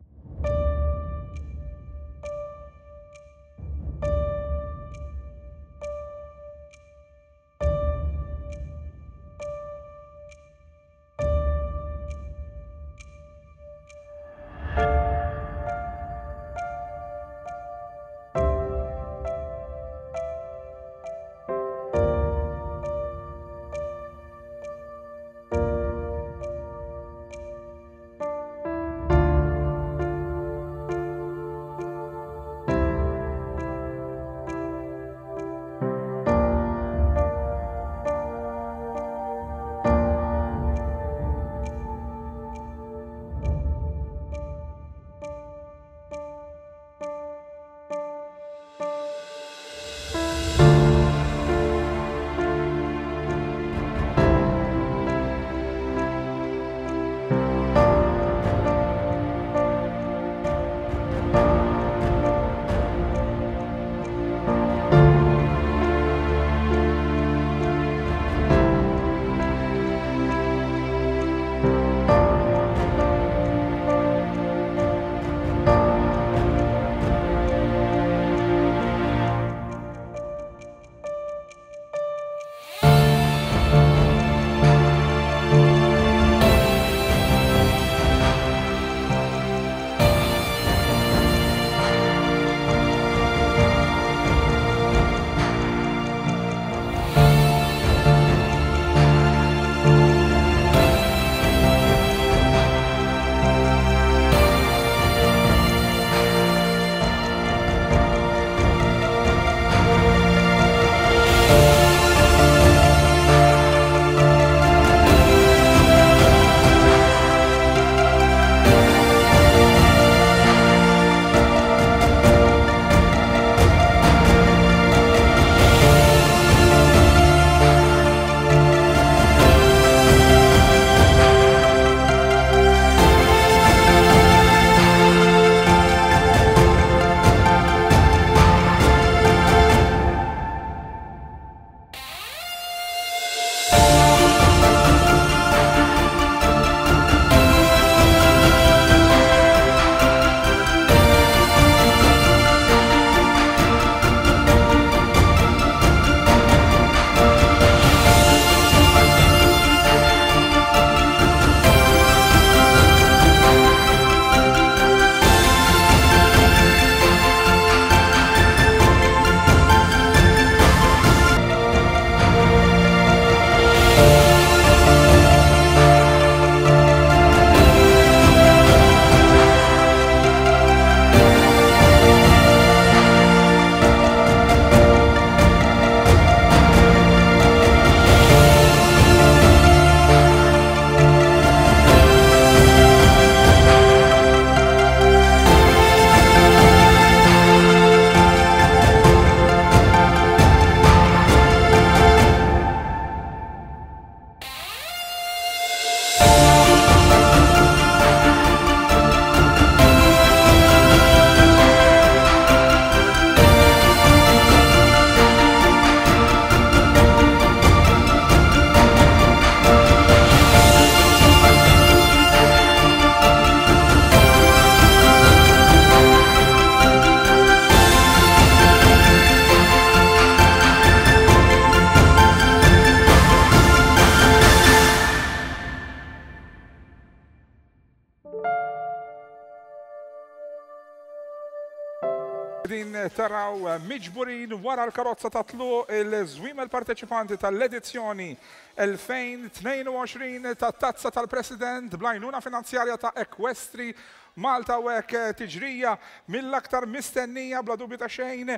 taraw miġburin wara l-karozza ta' tluq il-żwiemel parteċipanti tal-edizzjoni 2022 tat-Tazza tal-President bl-għajnuna finanzjarja ta' Equestri Malta u hekk tiġrija mill-aktar mistennija bla dubju ta' xejn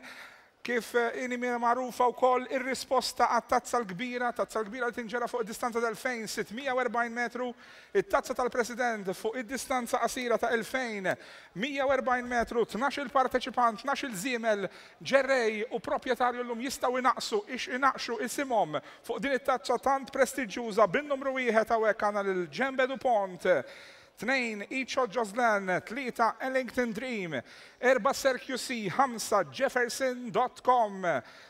Kif inhi magħrufa wkoll ir-risposta għat-Tazza l-Kbira, Tazza l-Kbira li tinġera fuq id-distanza ta' 2,640 metru, it-Tazza tal-President fuq id-distanza qasira ta' 2,140 metru, tnax-il parteċipant, tnax-il żiemel, ġerrej u proprjetarju llum jistgħu jnaqqsu, inaqqxu isimhom fuq din it-tazza tant prestiġġjuża bin-numru wieħed hawnhekk għandna lil Djembe Dupont. 2 Icho Joslan, 3 Ellington Dream, 4 Sir QC, 5 Jefferson Dot Com,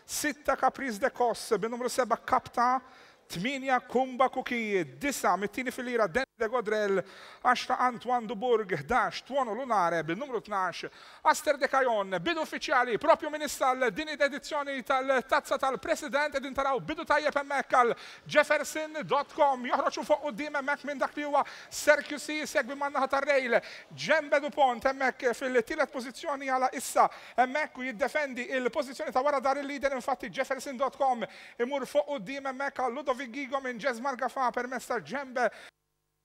6 Caprice de Cos, bin-numru 7 Kapta, 8 Kumba Kuki, 9 mit-tieni filira Danny de Godrel, 10 Antoine du Bourg, 11 Tuono Lunare, bin-numru 12 Aster de Cajon. Bidu uffiċjali propju minn issa għal din id-edizzjoni tal-Tazza tal-President. Qegħdin taraw bidu tajjeb hemmhekk għal Jefferson dot com. Joħroġ u fuq quddiem hemmhekk minn dak li huwa Sir QC jsegwi man-naħa tar-rail Djembe Dupont hemmhekk fil-tielet pożizzjoni għala issa hemmhekk u jiddefendi il-pożizzjoni ta' wara dar il-leader infatti Jefferson dot com imur fuq quddiem hemmhekk għal Ludovic Ghigo minn Jesmar Gafà permezz ta' Djembe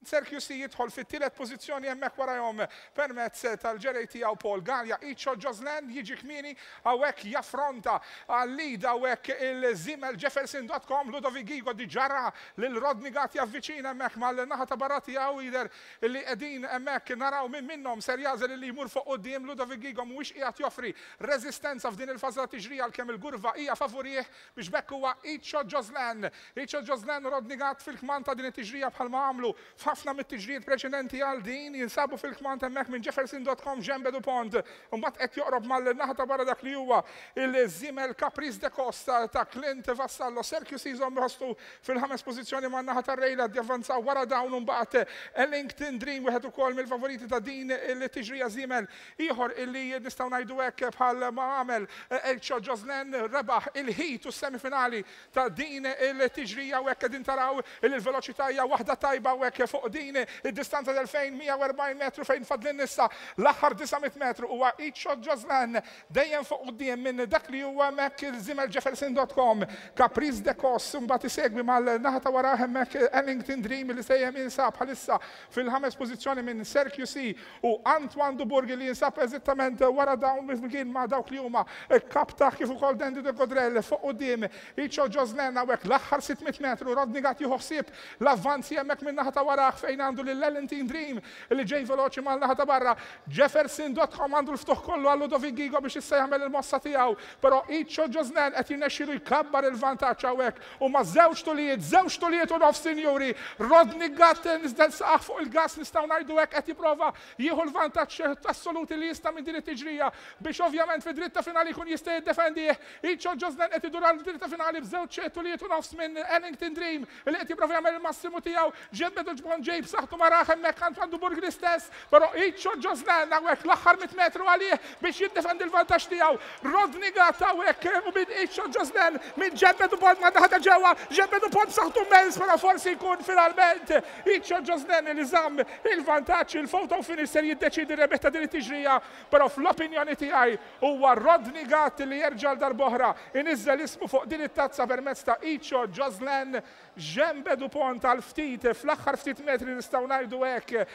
Sir QC jidħol fit-tielet pożizzjoni hemmhekk warajhom permezz tal-ġerej tiegħu Paul Galea. Icho Joslan jiġi kmieni hawnhekk jaffronta għal-lead hawnhekk il-żiemel Jefferson dot com. Ludovic Ghigo diġà ra lil Rodney Gatt javviċina hemmhekk mal-naħa ta' barra tiegħu. Jidher li qegħdin hemmhekk naraw min minnhom ser jagħżel illi jmur fuq quddiem. Ludovic Ghigo mhuwiex qiegħed joffri reżistenza f'din il-fażi tat-tiġrija għalkemm il-gurva hija favurih. Biex b'hekk huwa Icho Joslan. Icho Joslan u Rodney Gatt fil-kmand ta' din it-tiġrija bħalma għamlu f'ħafna mit-tiġrijiet preċedenti għal din, jinsabu fil-kmand hemmhekk minn Jefferson dot com Djembe Dupont. Imbagħad qed joqrob mal-naħa ta' barra dak li huwa il-żiemel Caprice de Costa ta' Clint Vassallo. Sergio Siso jħossu fil-ħames pożizzjoni man-naħa tar-Rejla javvanzaw wara dawn u mbagħad Ellington Dream wieħed ukoll mill-favoriti ta' din il-tiġrija żiemel Ieħor illi nistgħu ngħidu hekk bħal ma għamel Elcio Joslen rebaħ il-heat u s-semifinali ta' din il-tiġrija u hekk qegħdin taraw illi l-veloċità hija waħda tajba u hekk fuq din id-distanza tal-2140 metru fejn fadlilna issa l-aħħar 900 metru huwa Icho Joslen dejjem fuq quddiem minn dak li huwa hemmhekk il-żiemel Jefferson dot com Caprice de Cos imbagħad isegwi mal-naħa ta' warah hemmhekk Ellington Dream li sejjem jinsab bħalissa fil-ħames pożizzjoni minn Sir QC U Antoine Dubourg li jinsab eżittament wara dawn flimkien ma' dawk li huma Kaptah kif ukoll Dandy de Godrel fuq quddiem Icho Joslen hawnhekk l-aħħar 600 metru Rodney Gatt jieħu ħsieb l-avvanzi hemmhekk min-naħa ta' warah fejn għandu lil Ellington Dream li ġej veloċi mal-naħa ta' barra. Jefferson Dotcom għandu l-ftuħ kollu għal Ludovic Ghigo biex issa jagħmel il-mossa tiegħu però Icho Joslen qed jirnexxielu jkabbar il-vantaġġ hawnhekk Huma żewġ tulijiet, żewġ tulijiet u nofs sinjuri. Rodney Gatt niżel saqajh fuq il-gass nistgħu ngħidu hekk qed jipprova jieħu l-vantaġġ assolut li jista' minn din it-tiġrija biex ovvjament fid-dritta finali jkun jista' jiddefendih. Icho Joslen qed idur għal dritta finali b'żewġ tulijiet u nofs minn Ellington Dream li qed jipprova jagħmel il-massimu tiegħu. Ġiet Ġbon ġej b'saħħtu ma raħ hemmhekk Antoine Dubourg l-istess, però Icho Joslen hawnhekk l-aħħar 100 metru għalih biex jiddefendi l-vantaġġ tiegħu. Rodney Gatt hawnhekk u minn Icho Joslen minn Ġebbe Dupont man-naħa ta' ġewwa. Ġebbe Dupont b'saħħtu immens però forsi jkun finalment Icho Joslen li żamm il-vantaġġ. Il-photo finish ser jiddeċiedi r-rebbieħ ta' din it-tiġrija, però fl-opinjoni tiegħi huwa Rodney Gatt li jerġa' għal darb'oħra iniżżel ismu fuq din it-tazza permezz ta' Icho Joslen. Ġembe Dupont għal ftit, fl-aħħar ftit metri nistgħu ngħidu hekk,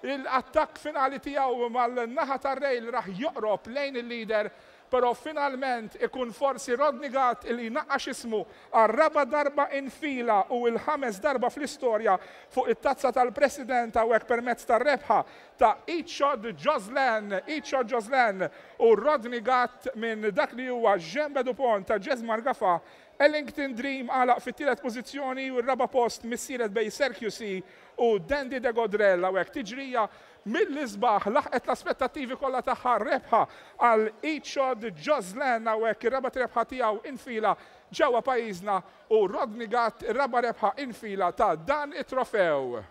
l-attakk finali tiegħu mal-naħa tar-rail rah joqrob lejn il-leader, però finalment ikun forsi Rodney Gatt li jnaqqax ismu għar-raba' darba infila u l-ħames darba fl-istorja fuq it-Tazza tal-President hawnhekk permezz tar-rebħa ta' Ichod Joslen, Ichod Joslen u Rodney Gatt minn dak li huwa Ġembe Dupont ta' Jesmar Gafà Ellington Dream għalaq fit-tielet pożizzjoni u r-raba' post missielet bejn Sir QC u Dandy de Godrel. Hawnhekk tiġrija mill-isbaħ laħqet l-aspettattivi kollha tagħha rebħa għal Ichod Joslen hawnhekk ir-raba' rebħa tiegħu infila ġewwa pajjiżna u Rodney Gatt ir-raba' rebħa infila ta' dan it-trofew.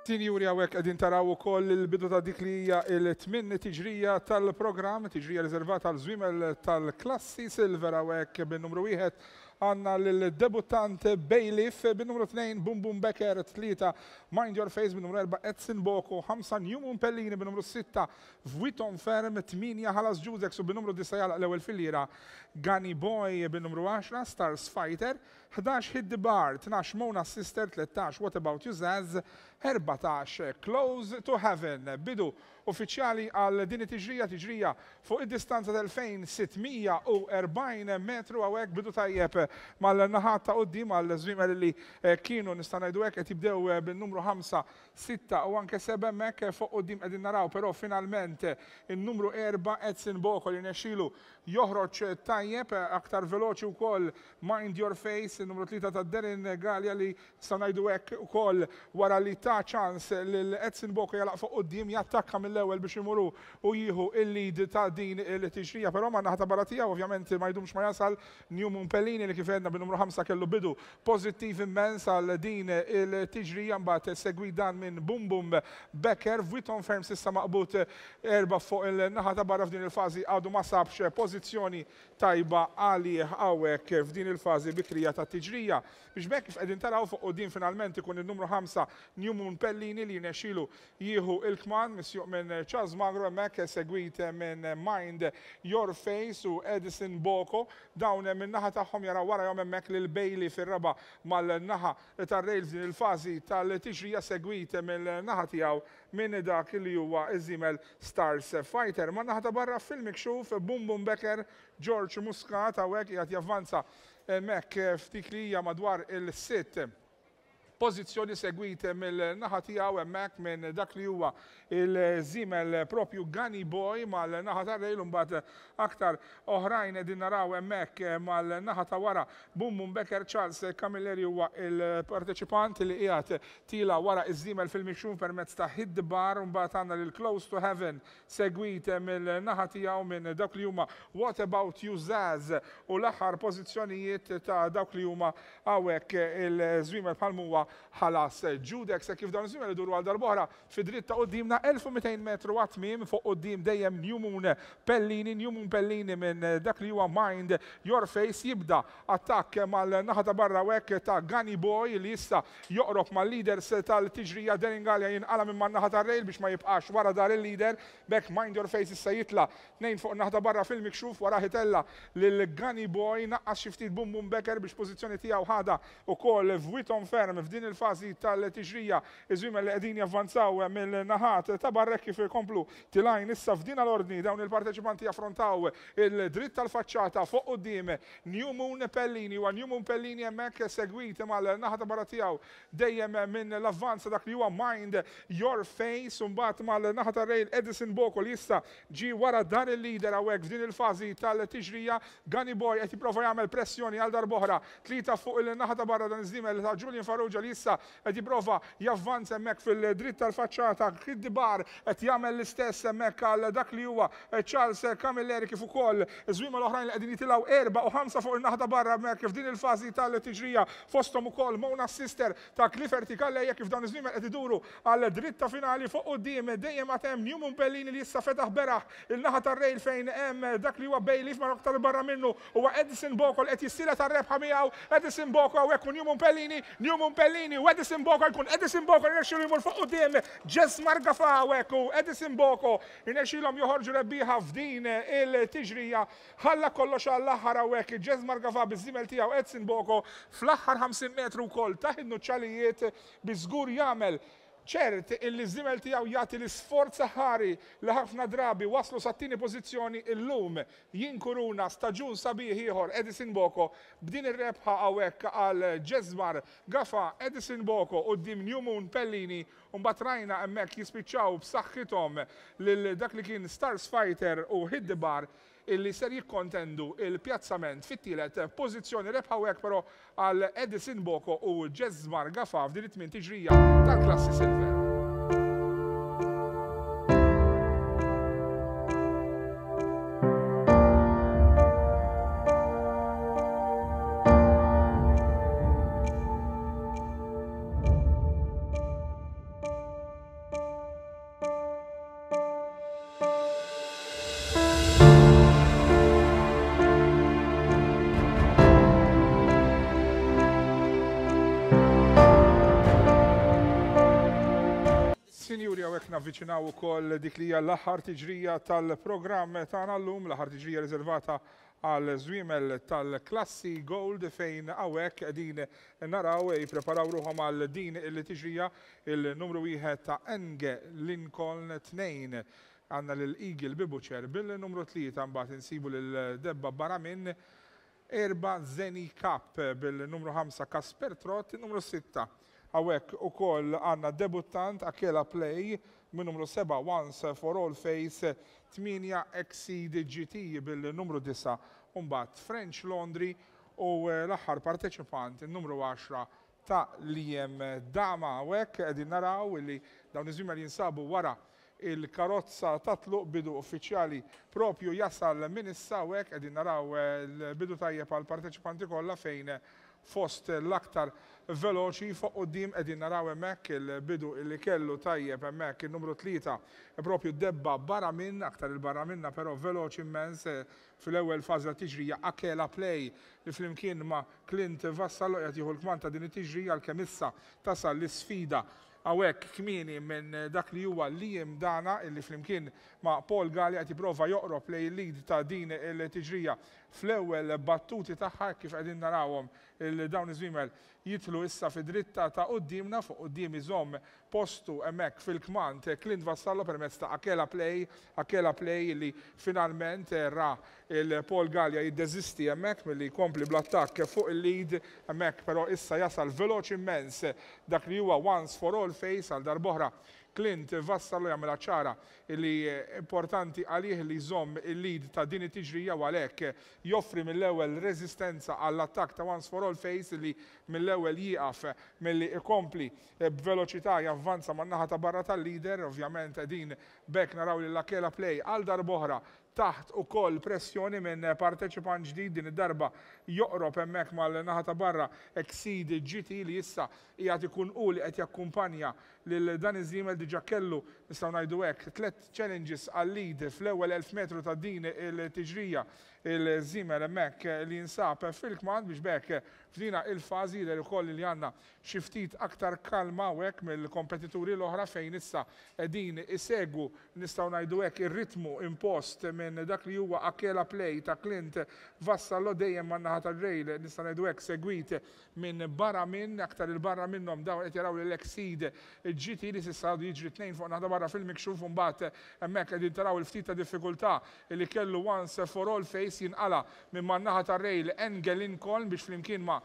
Sinjuri hawnhekk qegħdin taraw ukoll il-bidu ta' dik li hija il-tmien tiġrija tal-programm, tiġrija riservata għal żwiemel tal-klassi Silver hawnhekk bin-numru wieħed għandna lil-debuttant Bailiff, bin-numru 2 Boom Boom Becker, 3 Mind Your Face, bin-numru 4 Edson Boko, 5 New Moon Pellini, bin-numru 6 Vuitton Ferm, 8 Ħalas Judex u bin-numru 9 jagħlaq l-ewwel filliera Gani Boy, bin-numru 10 Stars Fighter, 11 Hit the Bar, 12 Mona Sister, 13 What About You Zaz, 14 Close to Heaven. Bidu uffiċjali għal din it-tiġrija, tiġrija fuq id-distanza ta' 2640 metru hawnhekk bidu tajjeb mal-naħat ta' quddiem għal żwiemel li kienu nista' ngħidu hekk qed jibdew bin-numru 5, 6 u anke 7 hemmhekk fuq quddiem qegħdin naraw però finalment in-numru 4 Edson Boko li rnexxielu joħroġ tajjeb aktar veloċi wkoll Mind Your Face in-numru 3 ta' Darren Galea li Nistgħu ngħidu hekk ukoll wara li ta ċans lil Edson Boko jagħlaq fuq quddiem, jattakka mill-ewwel biex imur hu u jieħu l-lead ta' din il-tiġrija. Però man-naħa ta' barra tiegħu ovvjament ma jdumx ma jasal New Moon Pellini li kif għedna bin-numru 5 kellu bidu pożittiv immens għal din il-tiġrija mbagħad segwit dan minn Boom Boom Becker. Vuitton Ferm s'issa maqbud erba' fuq il-naħa ta' barra f'din il-fażi għadu ma sabx pożizzjoni tajba għalih hawnhekk f'din il-fażi bikrija tat-tiġrija. Biex b'hekk kif qegħdin taraw fuq quddiem finalment ikun in-numru 5 New Moon Pellini li jirnexxilu jieħu l-kmand misjuq minn Charles Magro hemmhekk segwit minn Mind Your Face u Edison Boko. Dawn min-naħa tagħhom jaraw warajhom hemmhekk lil Bailey fir-raba' mal-naħa tar-rail f'din il-fażi tal-tiġrija segwit mill-naħa tiegħu minn dak li huwa ż-żiemel Stars Fighter. Man-naħa ta' barra fil-mikxuf Boom Boom Becker George Muscat hawnhekk qiegħed javvanza Hemmhekk f'dik li hija madwar il-sitt pożizzjoni segwit mill-naħa tiegħu hemmhekk minn dak li huwa il-żiemel propju Gani Boy mal-naħa tar-rail u mbagħad aktar oħrajn qegħdin naraw hemmhekk mal-naħa ta' wara Boom Boom Becker. Charles Camilleri huwa il-parteċipant li qiegħed tiela' wara iż-żiemel fil-mixjun permezz ta' Hit the Bar u mbagħad għandna lil Close to Heaven segwit mill-naħa tiegħu minn dawk li huma What About You Zaz u l-aħħar pożizzjonijiet ta' dawk li huma hawnhekk il-żwiemel bħal m'huwa Ħalas Judex hekk kif dawn iż-żwiemel iduru għal darb'oħra fi dritt ta' quddiemna 1200 metru għat-tmiem fuq quddiem dejjem New Moon Pellini New Moon Pellini minn dak li huwa Mind Your Face jibda attakk mal-naħa ta' barra hawnhekk ta' Gani Boy li issa Joqrob mal-leaders tal-tiġrija Darren Galea jinqala' minn man-naħa tar-rail biex ma jibqax wara dar il-leader. B'hekk Mind Your Face issa jitla' tnejn fuq in-naħa ta' barra fil-mikxuf warah itella' lil Gunny Boy naqqas xi ftit Boom Boom Becker biex pożizzjoni tiegħu ħadha wkoll Vuitton Ferm f'din il-fażi tal-tiġrija. Iż-żwiemel li qegħdin javvanzaw mill-naħat ta' barra hekk kif ikomplu tilgħin issa f'din l-ordni dawn il-parteċipanti jaffrontaw il-dritt tal-faċċata fuq quddiem New Moon Pellini huwa New Moon Pellini hemmhekk segwit mal-naħa ta' barra tiegħu dejjem minn l-avvanz ta' dak li huwa Mind Your Face u mbagħad mal-naħa tar-rail Edison Boko li issa ġie wara dan il-leader hawnhekk f'din il-fażi tal-tiġrija. Gani Boy qed jipprova jagħmel pressjoni għal darb'oħra. Tlieta fuq il-naħa ta' barra dan iż-żiemel ta' Julian Farrugia li issa qed jipprova javvanza hemmhekk fil-dritt tal-faċċata. Kid Bar qed jagħmel l-istess hemmhekk għal dak li huwa Charles Camilleri kif ukoll żwiemel oħrajn li qegħdin jitilgħu 4 u 5 fuq in-naħa ta' barra hemmhekk f'din il-fażi tal-tiġrija fosthom ukoll Mona Sister ta' Clifford Calleja kif dawn iż-żwiemel qed iduru għal dritta finali fuq quddiem dejjem għad hemm Newman Pellini li issa fetaħ beraħ il-naħa tar-rail fejn hemm dak li huwa Bailiff ma aktar barra minnu huwa Edison Boko li qed jissielet għar-rebħa miegħu Edison Boko hawnhekk u Newman Pellini Newman Pellini u Edison Boko jkun Edison Boko li rnexxielu jmur fuq quddiem Jesmar Gafa hawnhekk u Edison Boko rnexxielhom joħorġu rebbieħa f'din il-tiġrija. Ħalla kollox għall-aħħar hawnhekk Jesmar Gafa biż-żiemel tiegħu Edson Boko fl-aħħar 50 metru wkoll tah in-nuċċalijiet biex żgur jagħmel ċert illi ż-żiemel tiegħu jagħti l-isforz aħħari li ħafna drabi wasslu sat-tieni pożizzjoni illum jinkuruna staġun sabiħ ieħor Edison Boko b'din ir-rebħa hawnhekk għal Jesmar Gafa Edison Boko quddiem New Moon Pellini u mbagħad rajna hemmhekk jispiċċaw b'saħħithom lil dak li kien Stars Fighter u Hit the Bar illi ser jikkontendu l-pjazzament fit-tielet pożizzjoni. Rebħa hawnhekk però għal Edison Boko u Jesmar Gafa f'din it-tmien tiġrija tal-klassi Silver. navviċinaw ukoll dik li hija l-aħħar tiġrija tal-programm tagħna llum, l-aħħar tiġrija riservata għal żwiemel tal-klassi Gold fejn hawnhekk qegħdin naraw jippreparaw ruħhom għal din il-tiġrija il-numru wieħed ta' Enge Lincoln 2 għandna lil Eagle Bibuċer bil-numru 3 mbagħad insibu lil Debba Baramin 4 Zeni Cup bil-numru 5 Kasper Trott, numru 6 hawnhekk ukoll għandna debuttant Akela Play min numru 7 Once for All Face, 8 Exceed GT bil-numru 9 u mbagħad French Laundry u l-aħħar parteċipant in-numru 10 ta' Liam Dama. Hawnhekk qegħdin naraw li dawn iż-żwiemel jinsabu wara il-karozza ta' tluq bidu uffiċjali propju jasal minn issa u hekk qegħdin naraw l-bidu tajjeb għall-parteċipanti kollha fejn fost l-aktar veloċi fuq quddiem qegħdin naraw hemmhekk il-bidu li kellu tajjeb hemmhekk in-numru 3 propju Debba Baramin, aktar il-barra minna però veloċi immens fil-ewwel fażi tat-tiġrija Akela Play li flimkien ma' Clint Vassallo qiegħed jieħu l-kmand ta' din it-tiġrija għalkemm issa tasal l-isfida hawnhekk kmieni minn dak li huwa Liam Dana illi flimkien ma' Paul Galea qed jipprova joqrob lejn il-lead ta' din il-tiġrija fl-ewwel battuti tagħha hekk kif qegħdin narawhom il dawn iż-żwiemel jidħlu issa fid-dritta ta' quddiemna. Fuq quddiem iżomm postu hemmhekk fil-kmand Clint Vassallo permezz ta' Akela Play, Akela Play li finalment ra il Paul Galea jiddeżisti hemmhekk milli jkompli bl-attakk fuq il-lead hemmhekk però issa jasal veloċi immens dak li huwa Once for All Face għal darb'oħra. Clint Vassallo jagħmilha ċara li importanti għalih li jżomm il-lead ta' din it-tiġrija u għalhekk joffri mill-ewwel reżistenza għall-attakk ta' Once for All Face li mill-ewwel jieqaf milli jkompli b'veloċità javvanza man-naħa ta' barra tal-leader. Ovvjament qegħdin b'hekk naraw lil Akela Play għal darb'oħra taħt ukoll pressjoni minn parteċipant ġdid, din id-darba joqrob hemmhekk mal-naħa ta' barra Exceed GT li issa qiegħed ikun hu li qed jakkumpanja lil dan iż-żiemel. Diġà kellu, nistgħu ngħidu hekk, tliet challenges għal-lead fl-ewwel 1000 metru ta' din il-tiġrija. Il-żiemel hemmhekk li jinsab fil-kmand biex b'hekk f'dina il-fażi jidher ukoll li għandna xi ftit aktar kalma hawnhekk mill-kompetituri l-oħra fejn issa qegħdin isegwu, nistgħu ngħidu hekk, ir-ritmu impost minn dak li huwa Akela Play ta' Clint Vassallo dejjem man-naħa tar-rail, nistgħu ngħidu hekk, segwit minn barra minn, aktar 'il barra minnhom dawn qed jaraw lil Exceed GT li s'issa għadu jiġri tnejn fuq naħa ta' barra fil-mikxuf u mbagħad hemmhekk qegħdin taraw il-ftit ta' diffikultà li kellu Once For All Face jinqala' minn man-naħa tar-rail Enge Lincoln biex flimkien ma'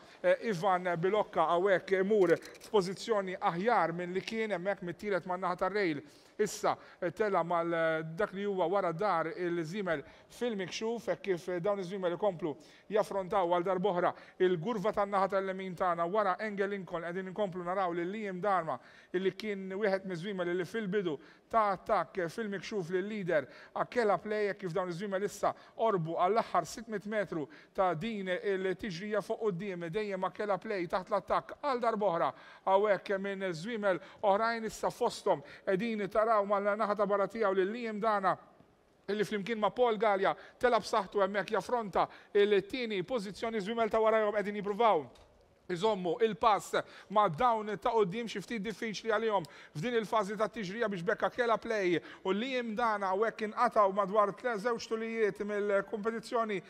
Ivan Bilocca hawnhekk imur f'pożizzjoni aħjar minn li kien hemmhekk mit-tielet man-naħa tar-rail. Issa tela' mal dak li huwa wara dar il-żiemel fil-mikxuf hekk kif dawn iż-żwiemel ikomplu jaffrontaw għal darb'oħra il-gurva tan-naħa tal-lemin tagħna wara Enge Lincoln qegħdin inkomplu naraw lil Liam Darma illi kien wieħed miż-żwiemel illi fil-bidu ta attakk fil-mikxuf lil-leader Akela Play hekk kif dawn iż-żwiemel issa qorbu għall-aħħar 600 metru ta' din il-tiġrija fuq quddiem dejjem Akela Play taħt l-attakk għal darb'oħra hawnhekk minn żwiemel oħrajn issa fosthom qegħdin taraw mal-naħa ta' barra tiegħu lil Liam Dana illi flimkien ma' Paul Galea tela' b'saħħtu hemmhekk jaffronta l-tieni pożizzjoni. Żwiemel ta' warajhom qegħdin jippruvaw iżommu il-pass ma' dawn ta' quddiem, xi ftit diffiċli għalihom f'din il-fażi tat-tiġrija biex b'hekk Akela Play u Liam Dana hawnhekk inqatgħu madwar żewġ tulijiet mill-kompetizzjoni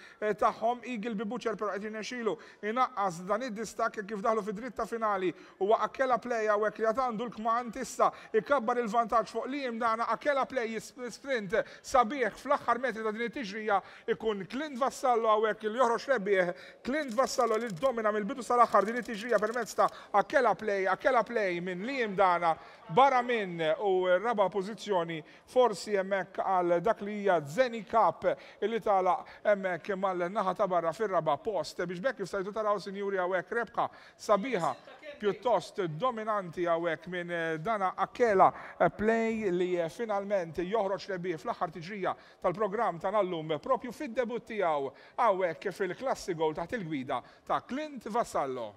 tagħhom. Eagle B Butcher però qed jirnexxilu jnaqqas dan id-distakk hekk kif daħlu fid-dritta finali. Huwa Akela Play hawnhekk li għad għandu l-kmand issa ikabbar il-vantaġġ fuq Liam Dana. Akela Play sprint sabiħ fl-aħħar metri ta' din it-tiġrija. Ikun Clint Vassallo hawnhekk li joħroġ rebbieħ. Clint Vassallo li ddomina mill-bidu sal-aħħar din it-tiġrija permezz ta' Akela Play, Akela Play minn Liam Dana, barra minn u r-raba' pożizzjoni forsi hemmhekk għal dak li hija Zeni Cup li tagħlaq hemmhekk mal-naħa ta' barra fir-raba' post. Biex b'hekk kif stajtu taraw sinjuri hawnhekk rebħa sabiħa pjuttost dominanti hawnhekk minn dana Akela Play li finalment joħroġ rebbieħ fl-aħħar tiġrija tal-programm tagħna llum propju fid-debutt tiegħu hawnhekk fil-Klassi Gold taħt il-gwida ta' Clint Vassallo.